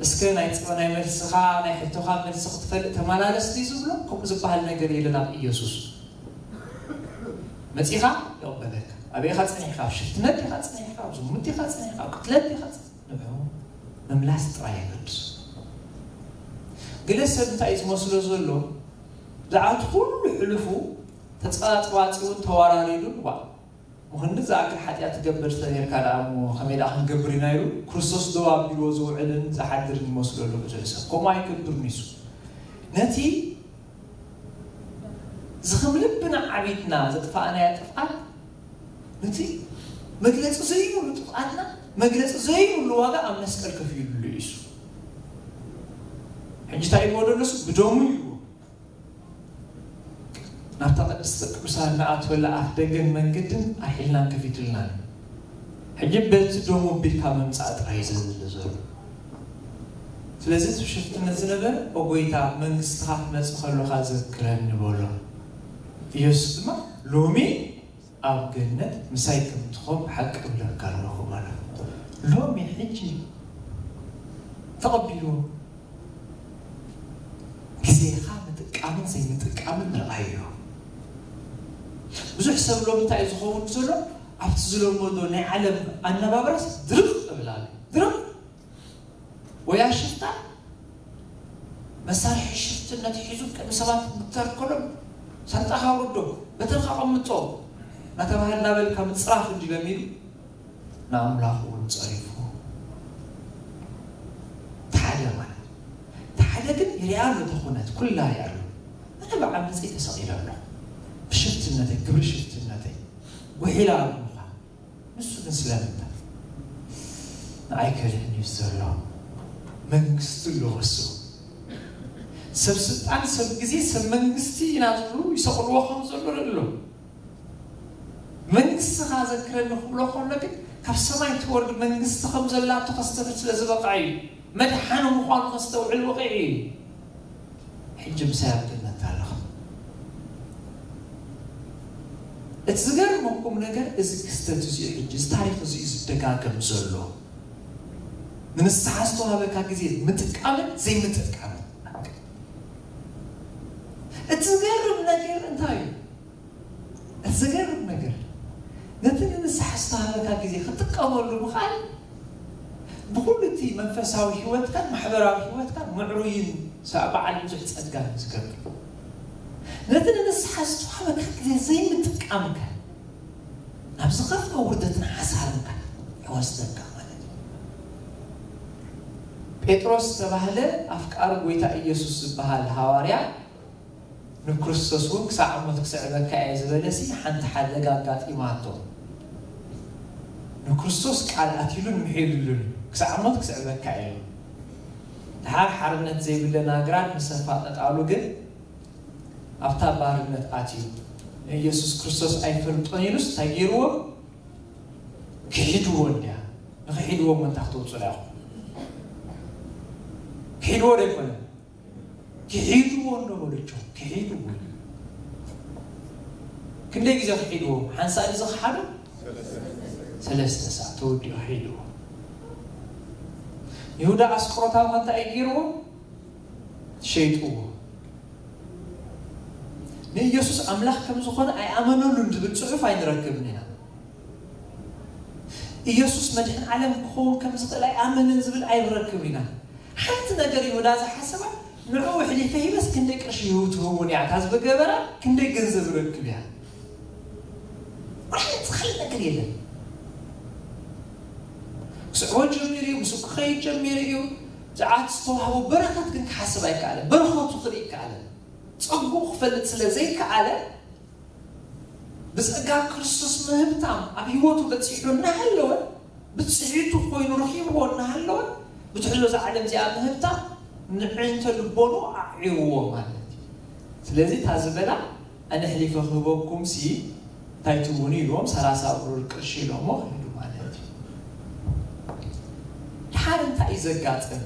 እስከ ናይ ጽ-፣ ናይ መልስኻ፣ ናይ ሕቶኻ መልሲ ክትፈልጥ ተመላለስ ድዩ ዝብሎ? ከምኡ ዝበሃል ነገር የለን ኣብ ኢየሱስ። መጺኻ ይቕበለካ። ኣበይ ኢኻ ጸኒሕካ? ኣብ ሽፍትነት ዲኻ ጸኒሕካ? ኣብ ዝሙት ዲኻ ጸኒሕካ? ኣብ ቅትለት ዲኻ ጸኒሕካ? ንዑ ምምላስ ጥራይ የገድስ። ገለ ሰብ እንታይ እዩ ዝመስሎ ዘሎ? ብዛዕባ እቲ ኩሉ ሕሉፉ ተጸባጽባጺውን ተዋራሪዱን ዋ፣ ምኽንዲ ዝኣክል ሓጢኣት ትገብር ተነርካ ደኣ እሞ ከመይ ደኣ ክንገብር ኢና ኢሉ ክርስቶስ ደው ኣቢልዎ ዝውዕልን ዝሓድርን ይመስሎ ኣሎ ብዙሕ ሰብ። ከምኡ ኣይገብርን እዩ። ነቲ ዝኽም ልብና ዓቢትና ዘጥፋእናዮ ጥፍኣት፣ ነቲ መግለጺ ዘይብሉ ጥፍኣትና መግለጺ ዘይብሉ ዋጋ ኣብ መስቀል ከፊሉሉ እዩ እሱ። ሕጂ እንታይ ኢልዎ ዘሎ እሱ? ብደሙ ኢልዎ። ናብታ ቅድስተ ቅዱሳን ንኣትወላ ኣፍ ደገን መንገድን ኣርሒልናን ከፊቱልናን። ሕጂ በቲ ደሙ ኣቢልካ ምምጻእ ጥራይ እዩ ዘድሊ ዘሎ። ስለዚ እቲ ሽፍትነት ዝነበረ፣ "ኦ ጐይታ፣ መንግስትኻ ክመጽእ ከሎኻ ዘክረኒ" በሎ። ኢየሱስ ድማ፣ "ሎሚ ኣብ ገነት ምሳይ ከም ትኾን ብሓቂ እብለካ ኣለኹ" በሎ። ሎሚ ሕጂ ተቐቢልዎ። ግዜኻ ምጥቃምን ዘይምጥቃምን ርኣዮ። ብዙሕ ሰብ ሎም እንታይ እዩ ዝኸውን ዘሎ? ኣብቲ ዝለመዶ ናይ ዓለም ኣነባብራስ ድርቕ እብል ኣሎ። ድርቕ ወይ ኣሽፍታ መሳርሒ ሽፍትነት ሒዙ ቅድሚ ሰባት ምተርከሎም ሳንጣኻ ኣውርዶ፣ በትርኻ ኣቐምጦ እናተባህለ እናበልካ ምጽራፍ እንዲሎም ኢሉ ንኣምላኹ እውን ጸሪፉ። ተሓደ ማለት ተሓደ ግን ይርያ ኣሎ፣ ተኾነት ኩላ ይርያ ኣሎ። ኣነ ብዓመፀይ ተሰቒለ ኣለኹ። ብሽፍትነተይ፣ ግብሪ ሽፍትነተይ ጉሒላ ኣብ ምዃን። ንሱ ግን ስለምንታይ? ንኣይ ከድሕን እዩ ዘሎ። መንግስቲ ኣለዎ እሱ። ሰብ ስልጣን፣ ሰብ ግዜ፣ ሰብ መንግስቲ ኢና ዝብሉ ይሰቕልዎ ከም ዘሎ ርኢ ኣሎ። መንግስትኻ ዘክረኒ ክብሎ ከሎ ግን ካብ ሰማይ ትወርድ መንግስቲ ከም ዘላቶ ከስተብህል ስለ ዝበቕዐ እዩ። መድሓኒ ምዃኑ ከስተውዕል በቒዑ እዩ። ሕጂ ምሳይ ኣብ ገነት ኣለኹ። እቲ ዝገርመኩም ነገር እዚ ክስተት እዚ እዩ። ሕጂ እዚ ታሪኽ እዚ እዩ ዝደጋገም ዘሎ። ንንስሓ ዝተዋህበካ ግዜ ምጥቃምን ዘይምጥቃምን። እቲ ዝገርም ነገር እንታይ እዩ? እቲ ዘገርም ነገር፣ ነቲ ንንስሓ ዝተሃበካ ግዜ ክትጥቀመሉ ምኽኣል፣ ብኹሉ እቲ መንፈሳዊ ህይወትካን ማሕበራዊ ህይወትካን ምዕሩይን ሰ-፣ በዓል ብዙሕ ጸጋን ዝገብር። ነቲ ንንስሓ ዝተዋህበካ ግዜ ዘይምጥቃምካ፣ ናብ ዝኸፍአ ውርደትን ሓሳርንካ ይወስደካ ማለት እዩ። ጴጥሮስ ዝተባህለ ኣፍቃሪ ጎይታ ኢየሱስ ዝበሃል ሃዋርያ፣ ንክርስቶስ እውን ክሳዕ ሞት ክስዕበካ እየ ዝበለሲ ሓንቲ ሓደጋ ኣጋጢማቶ። ንክርስቶስ ቃል ኣትዩሉን ምሒሉሉን ክሳዕ ሞት ክስዕበካ እየ። ድሓር ሓርነት ዘይብለን ኣግራድ ምስ ኣፋጠጣሉ ግን ኣብታ ባርነት ኣትዩ። ንኢየሱስ ክርስቶስ ኣይፈልጦን ኢሉስ እንታይ ገይርዎ? ክሒድዎ እንድያ። ንክሒድዎ እሞ እንታይ ክትወፅኡ ኢኹም? ክሒድዎ ዶ ኣይኮነን? ክሒድዎ እንዶ በለችው፣ ክሒድዎ። ክንደይ ግዜ ክሒድዎም? ሓንሳእ ግዜ ክሓዱ ሰለስተ ሰዓት ተወዲኡ ሒድዎ። ይሁዳ ኣስቆሮታዊ ከ እንታይ እዩ ገይርዎ? ሸይጥዎ። ንኢየሱስ ኣምላኽ ከም ዝኾነ ኣይኣመነሉን ዝብል ጽሑፍ ኣይንረክብን ኢና። ኢየሱስ መድሕን ዓለም ክኸውን ከም ዝኽእል ኣይኣመንን ዝብል ኣይንረክብ ኢና። ሓንቲ ነገር ይሁዳ ዝሓሰባ ንዕኡ ኣሕሊፈ ሂበስ ክንደይ ቅርሺ ይህቡ ትህቡን እያ እታ ዝበገበራ ክንደይ ገንዘብ ረክብ እያ። ወላ ሓንቲ ካልእ ነገር የለን። ክስዕቦ ጀሚሩ እዩ፣ ምስኡ ክኸይድ ጀሚሩ እዩ። ዝዓት ዝተዋህቦ በረኸት ግን ክሓስብ ኣይከኣለ። በረኸቱ ክርኢ ይከኣለ። ጸጉ ክፈልጥ ስለ ዘይከኣለ ብጸጋ ክርስቶስ ምህብታም ኣብ ህይወቱ በጺሑ እናሃለወ ብጽሒቱ ኮይኑ ረኺብዎ እናሃለወ ብትሕዞ እዛ ዓለም እዚኣ ምህብታም ንዕንተ ልቦኑ ኣዕይዎ ማለት እዩ። ስለዚ እታ ዝበላ ኣነ ኣሕሊፈ ክህበኩም ሲ እንታይ ትብሉ ኢልዎም ሰላሳ ብሩር ቅርሺ ኢሎሞ ሄዱ ማለት እዩ። ድሓር እንታይ እዩ ዘጋጥም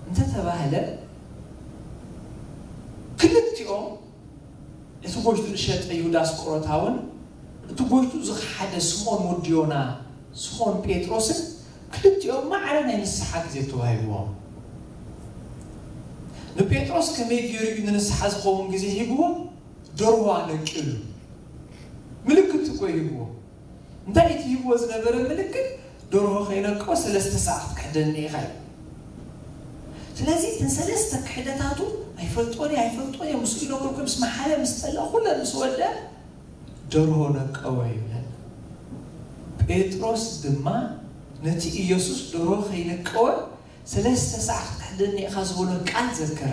እንተተባህለ ክልቲኦም እቲ ጎይቱ ዝሸጠ ይሁዳ ኣስቆሮታውን እቲ ጎይቱ ዝኸሓደ ስምኦን ወዲ ዮና ስምኦን ጴጥሮስን ክልቲኦም ማዕረ ናይ ንስሓ ግዜ ተዋሂብዎም። ንጴጥሮስ ከመይ ገይሩ እዩ ንንስሓ ዝኸውን ግዜ ሂብዎ? ደርዋ ነቂሉ ምልክት እኮ ሂብዎ። እንታይ እቲ ሂብዎ ዝነበረ ምልክት? ደርሆ ከይነቀወ ሰለስተ ሰዓት ክትሕደኒ ኢኻ እዩ። ስለዚ እተን ሰለስተ ክሕደታቱ ኣይፈልጦን እየ ኣይፈልጦን እየ ምስኡ ይነብርኩ ምስ መሓለ ምስ ጠላ ኩለን ምስ ወደ ደርሆ ነቀወ ይብለና። ጴጥሮስ ድማ ነቲ ኢየሱስ ደርሆ ከይነቀወ ሰለስተ ሰዓት ክትሕደኒ ኢኻ ዝበሎ ቃል ዘከረ።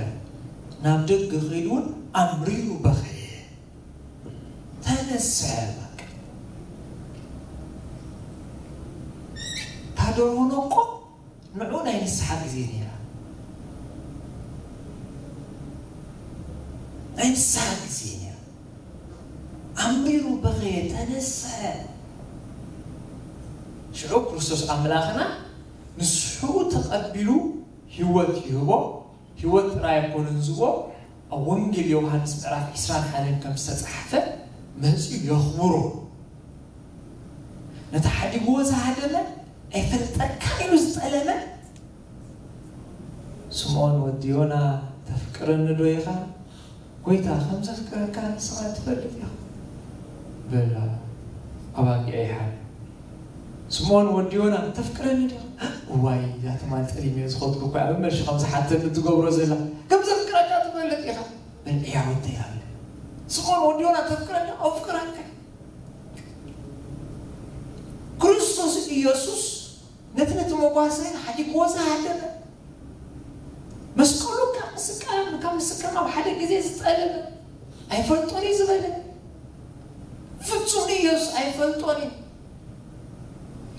ናብ ደገ ከይዱ እውን ኣምሪሩ በኸየ። ተነስሐ በቃ። ታደርሆ ነቆ ንዑ ናይ ንስሓ ግዜ ነይራ። ናይ ንስሓ ግዜ ነይራ። ኣንቢሩ በኸየ፣ ተነስሐ። ሽዑ ክርስቶስ ኣምላኽና ንስሕኡ ተቐቢሉ ህይወት ይህቦ። ህይወት ጥራይ ኣይኮነን ዝህቦ፣ ኣብ ወንጌል ዮሃንስ ምዕራፍ ዒስራን ሓደን ከም ዝተጻሕፈ መጺኡ የኽብሮ። ነቲ ሓዲግዎ ዝሃደመ ኣይፈልጠካን ኢሉ ዝጠለመ ስምዖን ወዲ ዮና፣ "ተፍቅረኒ ዶ ኢኻ? ጎይታ፣ ከም ዘፍቅረካ ንስኻ ትፈልጥ ኢኻ" በላ። ኣባጊዐ ይሓር ስምዖን ወዲ ዮና፣ "ተፍቅረኒ ዲኻ?" "እዋይ፣ እዛ ትማል ጠሊመዮ ዝኸድኩ እኮ ኣብ መልሲ ከም ዝሓተኒ ትገብሮ ዘላ። ከም ዘፍቅረካ ትፈልጥ ኢኻ?" "በል እያ ወደይ ኣለ። ስምዖን ወዲ ዮና፣ ተፍቅረኒ? ኣፍቅረካ." ክርስቶስ ኢየሱስ ነቲ ነቲ መጓሰ ሓዲግዎ ዝሃደመ፣ መስቀሉ ካብ ምስቃም፣ ካብ ምስካም ኣብ ሓደ ግዜ ዝጠለመ፣ "ኣይፈልጦን እዩ" ዝበለ፣ ፍጹም ኢየሱስ "ኣይፈልጦን እዩ"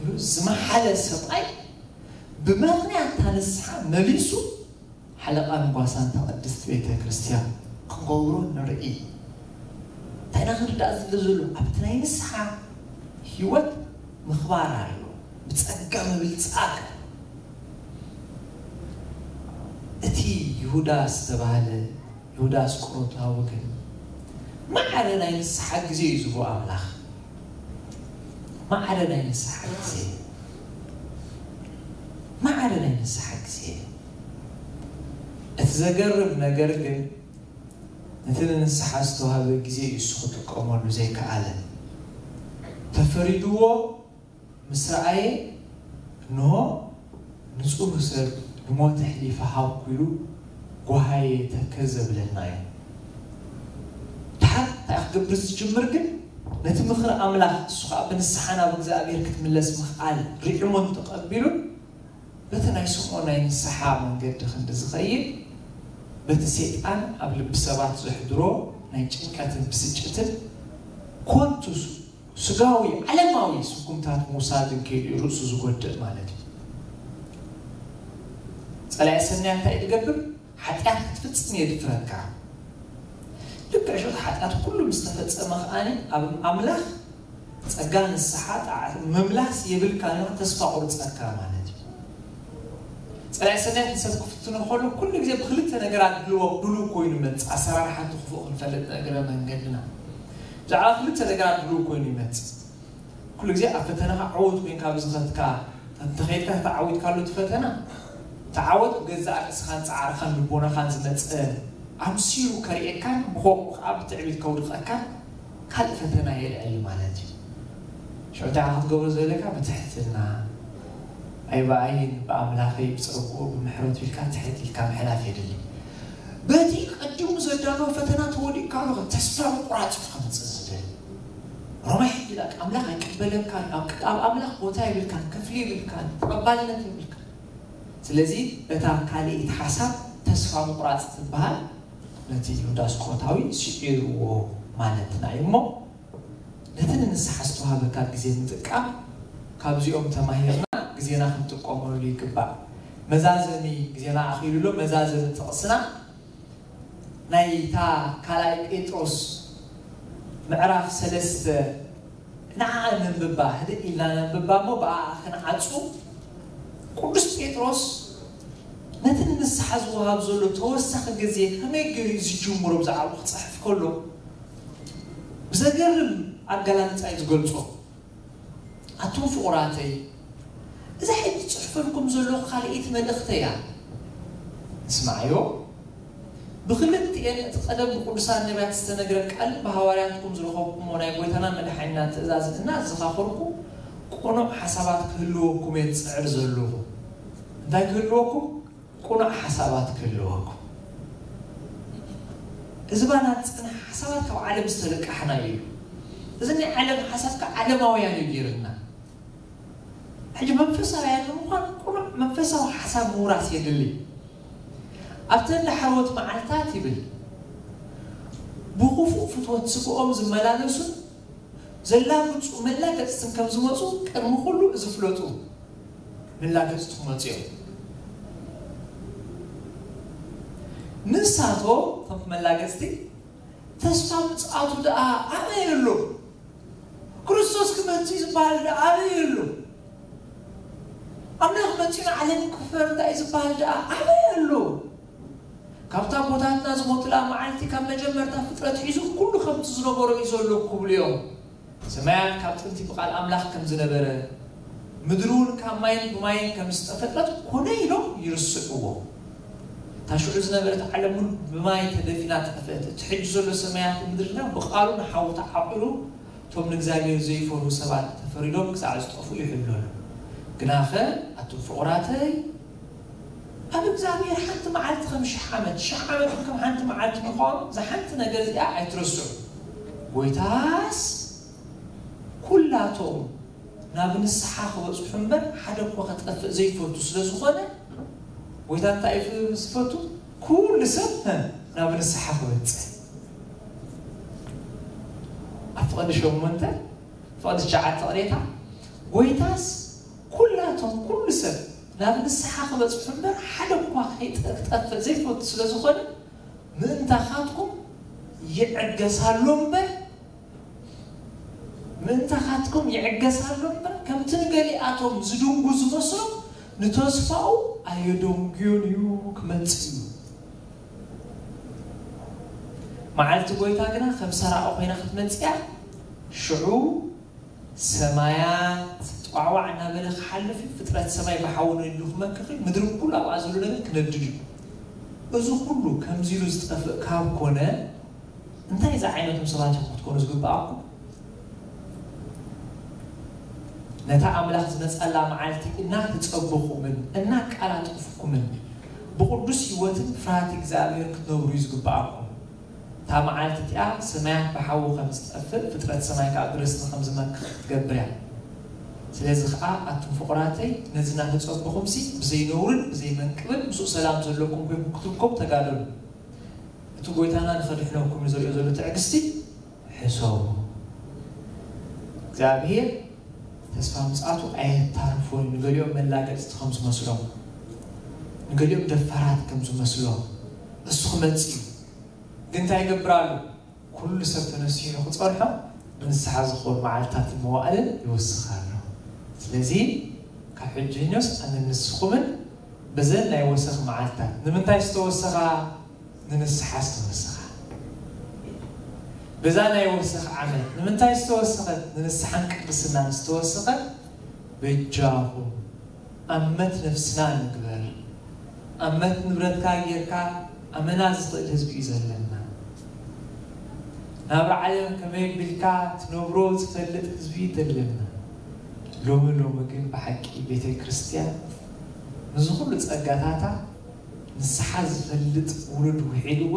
ኢሉ ዝመሓለ ሰብኣይ፣ ብምኽንያት እታ ንስሓ መሊሱ ሓለቓን ጓሳን እታ ቅድስቲ ቤተ ክርስቲያን ክገብሮ ንርኢ። እንታይ ኢና ክንርዳእ ዝብል ዘሎ? ኣብቲ ናይ ንስሓ ህይወት ምኽባር ኣሎ፣ ብጸጋ ምብልጻግ። እቲ ይሁዳ ዝተባህለ፣ ይሁዳ ኣስቆሮታዊ ግን ማዕረ ናይ ንስሓ ግዜ እዩ ዝህቦ ኣምላኽ። ማዕረ ናይ ንስሓ ግዜ፣ ማዕረ ናይ ንስሓ ግዜ። እቲ ዘገርም ነገር ግን፣ ነቲ ንንስሓ ዝተዋህበ ግዜ እዩ እሱ ክጥቀመሉ ዘይከኣለ። ተፈሪድዎ ምስ ረኣየ፣ እንሆ፣ ንጹህ ሰብ ንሞት ኣሕሊፈ ሃብኩ ኢሉ ጓሃየ ተከዘ ብለና እዩ። ድሓር እንታይ ክገብር ዝጅምር ግን፣ ነቲ ምኽሪ ኣምላኽ፣ እሱ ኸኣ ብንስሓ ናብ እግዚኣብሔር ክትምለስ ምኽኣል ርዒሙን ተቐቢሉን፣ በቲ ናይ ስምዖን ናይ ንስሓ መንገዲ ክንዲ ዝኸይድ፣ በቲ ሰይጣን ኣብ ልቢ ሰባት ዘሕድሮ ናይ ጭንቀትን ብስጭትን ኮንቱ ስጋዊ ዓለማዊ ስጉምታት ምውሳድን ከይዱ እዩ ርእሱ ዝጎድእ ማለት እዩ። ጸላኢ ሰናይ እንታይ እዩ ዝገብር? ሓጢኣት ክትፍጽም የድፍረካ። ልክዕ ሽዑ ሓጢኣት ኩሉ ምስ ተፈጸመ ከኣ ኣብ ኣምላኽ ጸጋ ንስሓ ጣዕ-፣ ምምላስ የብልካ፣ ተስፋ ቁርጸካ ማለት እዩ። ካልኣይ ሰናያት ንሰብ ክፍትኖ ከሎ ኩሉ ግዜ ብክልተ ነገራት ድልዎ ድሉው ኮይኑ ይመጽእ። ኣሰራርሓ እቲ ክፉእ ክንፈልጥ እግረ መንገድና ብዛዕባ ክልተ ነገራት ድሉው ኮይኑ ይመጽእ። ኩሉ ግዜ ኣብ ፈተናኻ ዕዉት ኮይንካ ብዝኸትካ እንተኸይድካ ተዓዊትካሉ እቲ ፈተና ተዓወት ብገዛእ ርእስኻን ጻዕርኻን ልቦናኻን ዝመጽእ ኣምሲሉ ከርእየካን ብኸምኡ ከዓ ብትዕቢት ከውድቐካን ካልእ ፈተና የልዕል ማለት እዩ። ሽዑ እንታይ ክትገብሮ ዘለካ ብትሕትና ኣይ ብኣይን ብኣምላኸይ ብጸጉኡ ብምሕረቱ ኢልካ ትሕት ኢልካ ምሕላፍ የድሊ። በቲ ቀዲሙ ዘዳለዎ ፈተና ተወዲእካ ኣለኻ ተስፋ ምቁራጽ እዩ ከምጽእ ዝብል ሮማይ ሕጂ ዳቅ ኣምላኽ ኣይቀበለካን ኣብ ኣብ ኣምላኽ ቦታ የብልካን ክፍሊ የብልካን ተቐባልነት የብልካን። ስለዚ እታ ካልኣይቲ ሓሳብ ተስፋ ምቁራጽ ትበሃል ነቲ ይሁዳ ስቆሮታዊ ስዒርዎ ማለት ናይ እሞ ነቲ ንንስሓ ዝተዋህበካ ግዜ ምጥቃም ካብዚኦም ተማሂርና ግዜና ክንጥቀመሉ ይግባእ። መዛዘሚ ግዜና ኣኺሉ ኣሎ። መዛዘሚ ጥቕስና ናይታ ካልኣይ ጴጥሮስ ምዕራፍ ሰለስተ ንዓ ነንብባ ህድእ ኢልና ነንብባ እሞ ብኣ ክንዓጹ ቅዱስ ጴጥሮስ ነቲ ንንስሓ ዝወሃብ ዘሎ ተወሳኺ ግዜ ከመይ ገይሩ እዩ ዝጅምሮ ብዛዕባኡ ክጽሕፍ ከሎ ብዘገርም ኣገላልጻ እዩ ዝገልጾ። ኣቱም ፍቑራተይ እዛ ሕጂ ጽሕፈልኩም ዘለኹ ካልኣይቲ መልእኽተይ እያ። እስማዓዮ። ብክልቲኤን እቲ ቀደም ብቅዱሳን ነቢያት ዝተነግረ ቃልን ብሃዋርያትኩም ዝረኸብኩሞ ናይ ጎይታና መድሓኒና ትእዛዝ እናዘኻኸርኩ ቅኑዕ ሓሳባት ክህልወኩም እየ ዝጽዕር ዘለኹ። እንታይ ክህልወኩም? ቅኑዕ ሓሳባት ክህልወኩም። እዚ ባና ዝጸንሐ ሓሳባት ካብ ዓለም ዝተለቃሕና እዩ። እዚ ናይ ዓለም ሓሳብ ከዓ ዓለማውያን እዩ ገይርና። ሕጂ መንፈሳውያን ንምዃን ቅኑዕ መንፈሳዊ ሓሳብ ምውራስ የድሊ። ኣብተን ዳሕረዎት መዓልታት ይብል ብኽፉእ ፍትወት ስግኦም ዝመላለሱን ዘላግጹ መላገጽትን ከም ዝመጹ ቅድሚ ኩሉ እዚ ፍለጡ። መላገጽቲ ክመጹ እዮም። ንሳቶም ከም መላገጽቲ ተስፋ ምጽኣቱ ደኣ ኣበይ ኣሎ? ክርስቶስ ክመጽእ ዝበሃል ደኣ ኣበይ ኣሎ? ኣምላኽ መጺኡ ንዓለም ክፈርዳ እዩ ዝበሃል ደኣ ኣበይ ኣሎ? ካብታ ኣቦታትና ዝሞቱላ መዓልቲ ካብ መጀመርታ ፍጥረት ሒዙ ኩሉ ከምቲ ዝነበሮ እዩ ዘሎ ክብሉ እዮም። ሰማያት ካብ ጥንቲ ብቓል ኣምላኽ ከም ዝነበረ ምድሪ እውን ካብ ማይን ብማይን ከም ዝተፈጥረት ኮነ ኢሎም ይርስዕዎ። እታ ሽዑ ዝነበረት ዓለም እውን ብማይ ተደፊና ጠፍአት። እቲ ሕጂ ዘሎ ሰማያት ምድሪ ግና ብቓሉ ንሓዊ ተዓቂሩ እቶም ንእግዚኣብሔር ዘይፈርሁ ሰባት ተፈሪዶም ክሳዕ ዝጠፍኡ ይሕሎ ኣሎ። ግናኸ ኣቱም ፍቑራተይ ኣብ እግዚኣብሔር ሓንቲ መዓልቲ ከም ሽሕ ዓመት ሽሕ ዓመት ከም ሓንቲ መዓልቲ ምዃኑ እዛ ሓንቲ ነገር እዚኣ ኣይትረስዑ። ጎይታስ ኩላቶም ናብ ንስሓ ክበጽሑ እምበር ሓደ እኳ ክጠፍእ ዘይፈቱ ስለ ዝኾነ ጎይታ እንታይ እዩ ዝፈቱ? ኩሉ ሰብ ናብ ንስሓ ክበጽሕ። ኣብ ፍቕዲ ሸሞንተ ፍቕዲ ትሽዓተ ቅሬታ ጎይታስ ኩላቶም ኩሉ ሰብ ናብ ንስሓ ክበጽሑ እምበር ሓደ እኳ ከይጠፍእ ዘይፈቱ ስለ ዝኾነ ምእንታኻትኩም ይዕገሳሉ እምበር ምእንታኻትኩም ይዕገሳሉ እምበር ከምቲ ንገሊኣቶም ዝድንጉ ዝመስሎም ንተስፋኡ ኣየደንጉዮን እዩ ክመጽእ እዩ። መዓልቲ ጎይታ ግና ከም ሰራቒ ኮይና ክትመጽእ እያ። ሽዑ ሰማያት ጧዕዋዕ እናበለ ክሓልፍ እዩ። ፍጥረት ሰማይ ብሓዊ ነዲዱ ክመክኽ እዩ። ምድሪ ኩሉ ኣብኣ ዘሎ ነገር ክነድድ እዩ። እዚ ኩሉ ከምዚ ኢሉ ዝጠፍእ ካብ ኮነ እንታይ ዝዓይነቶም ሰባት ኢኹም ክትኮኑ ዝግብኣኩም? ነታ ኣምላኽ ዝመጸላ መዓልቲ እናተጸበኹምን እናቃላጠፍኩምን ብቕዱስ ህይወትን ፍርሃት እግዚኣብሔር ክትነብሩ እዩ ዝግብኣኩም። እታ መዓልቲ እቲኣ ሰማያት ብሓዊ ከም ዝጠፍእ ፍጥረት ሰማይ ከዓ ብርስቲ ከም ዝመክኽ ክትገብር እያ። ስለዚ ከዓ ኣቱም ፍቑራተይ ነዚ እናተጸበኹምሲ ብዘይነውርን ብዘይመንቅብን ምስኡ ሰላም ዘለኩም ኮይንኩም ክትርከቡ ተጋደሉ። እቲ ጎይታና ንኸድሕነኩም ንዘርእዮ ዘሎ ትዕግስቲ ሕሰቡ። እግዚኣብሔር ተስፋ ምጽኣቱ ኣየታርፎን እዩ። ንገሊኦም መላገጽቲ ከም ዝመስሎም፣ ንገሊኦም ደፋራት ከም ዝመስሎም እሱ ክመጽእ እዩ። ግን እንታይ ይገብር ኣሎ? ኩሉ ሰብ ተነሲሑ ንኽጸንሖ ንንስሓ ዝኾኑ መዓልትታትን መዋእልን ይውስኽ ኣሎ። ስለዚ ካብ ሕጂ ንስ ኣነ ንስኹምን በዘን ናይ ወሰኽ መዓልታት ንምንታይ ዝተወሰኻ? ንንስሓ ዝተወሰኻ። በዛ ናይ ወሰኽ ዓመት ንምንታይ ዝተወሰኸት? ንንስሓን ቅድስናን ዝተወሰኸት። በጃኹም ኣመት ነፍስና ንግበር። ኣመት ንብረትካ ጌርካ ኣመና ዝኽእል ህዝቢ እዩ ዘለና። ናብራ ዓለም ከመይ ቢልካ ትነብሮ ዝፈልጥ ህዝቢ እዩ ዘለና። ሎሚ ሎሚ ግን ብሓቂ ቤተ ክርስቲያን ንዚ ኩሉ ጸጋታታ ንስሓ ዝፈልጥ ውሉድ ውሒድዋ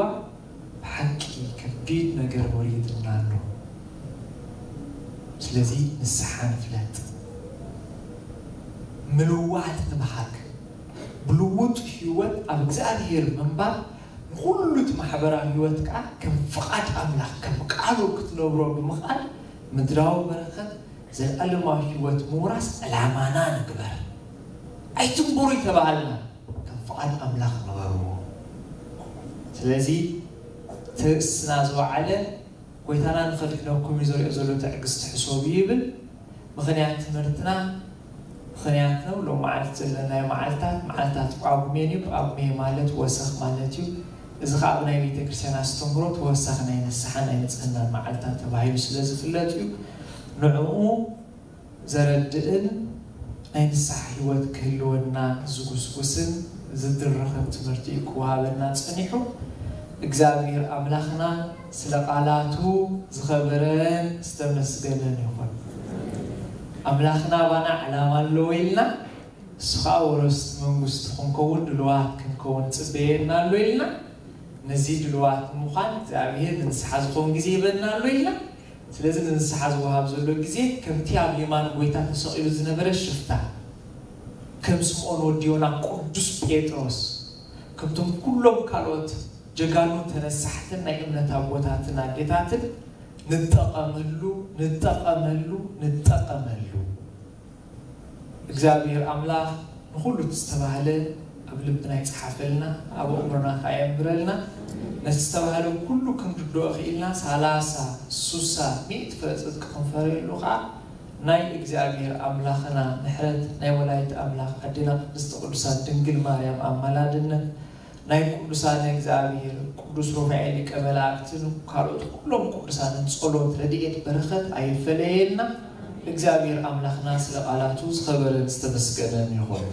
ብሓቂ ከቢድ ነገር ወሪድና ኣሎ። ስለዚ ንስሓ ንፍለጥ፣ ምልዋጥ ንብሃግ። ብልውጥ ህይወት ኣብ እግዚኣብሔር ምንባር ንኹሉ እቲ ማሕበራዊ ህይወት ከዓ ከም ፍቓድ ኣምላኽ ከም ቃሉ ክትነብሮ ብምኽኣል ምድራዊ በረኸት ዘለኣለማዊ ህይወት ምውራስ ዕላማና ንግበር። ኣይትንብሩ ይተባሃልና፣ ከም ፍቓድ ኣምላኽ ንበርዎ። ስለዚ ትርእስና ዝወዓለ ጎይታና ንኸድሕነኩም እዩ ዘሪኦ ዘሎ ትዕግስቲ ሕሰቡ ይብል። ምኽንያት ትምህርትና ምኽንያት ነው። ሎም መዓልቲ ዘለናዮ መዓልታት መዓልታት ጳጉሜን እዩ። ጳጉሜ ማለት ወሰኽ ማለት እዩ። እዚ ከዓ ብናይ ቤተ ክርስቲያን ኣስተምህሮ ተወሳኺ ናይ ንስሓ ናይ ንጽህና መዓልታት ተባሂሉ ስለ ዝፍለጥ እዩ። ንዕኡ ዘረድእን ናይ ንስሓ ህይወት ክህልወና ዝጉስጉስን ዝድረኸን ትምህርቲ እዩ ክወሃበና ጸኒሑ። እግዚኣብሔር ኣምላኽና ስለ ቃላቱ ዝኸበረን ዝተመስገነን ይኹን። ኣምላኽና ባና ዕላማ ኣለዎ ኢልና፣ እሱ ከዓ ወረስቲ መንግስቱ ክንከውን ድልዋት ክንከውን ጽበየና ኣሎ ኢልና፣ ነዚ ድልዋት ንምዃን እግዚኣብሔር ንንስሓ ዝኸውን ግዜ ይበና ኣሎ ኢልና። ስለዚ ንንስሓ ዝወሃብ ዘሎ ግዜ ከምቲ ኣብ የማን ጎይታ ተሰቒሉ ዝነበረ ሽፍታ፣ ከም ስምዖን ወዲ ዮና ቅዱስ ጴጥሮስ፣ ከምቶም ኩሎም ካልኦት ጀጋኑ ተነሳሕትን ናይ እምነት ኣቦታትን ኣዴታትን ንጠቐመሉ፣ ንጠቐመሉ፣ ንጠቐመሉ። እግዚኣብሔር ኣምላኽ ንኹሉ እቲ ዝተባህለ ኣብ ልብና ይጽሓፈልና፣ ኣብ ኣእምሮና ከኣ የንብረልና። ነቲ ዝተባህለ ኩሉ ክንርድኦ ክኢልና፣ ሳላሳ፣ ሱሳ፣ ሚእቲ ፍረ ጽድቂ ክንፈርየሉ ከኣ ናይ እግዚኣብሔር ኣምላኽና ምሕረት፣ ናይ ወላዲት ኣምላኽ ኣዴና ቅድስቲ ቅዱሳን ድንግል ማርያም ኣማላድነት፣ ናይ ቅዱሳን እግዚኣብሔር ቅዱስ ሩፋኤል ሊቀ መላእክትን ካልኦት ኩሎም ቅዱሳንን ጸሎት፣ ረድኤት፣ በረኸት ኣይፈለየና። እግዚኣብሔር ኣምላኽና ስለ ቃላቱ ዝኸበረን ዝተመስገነን ይኹን።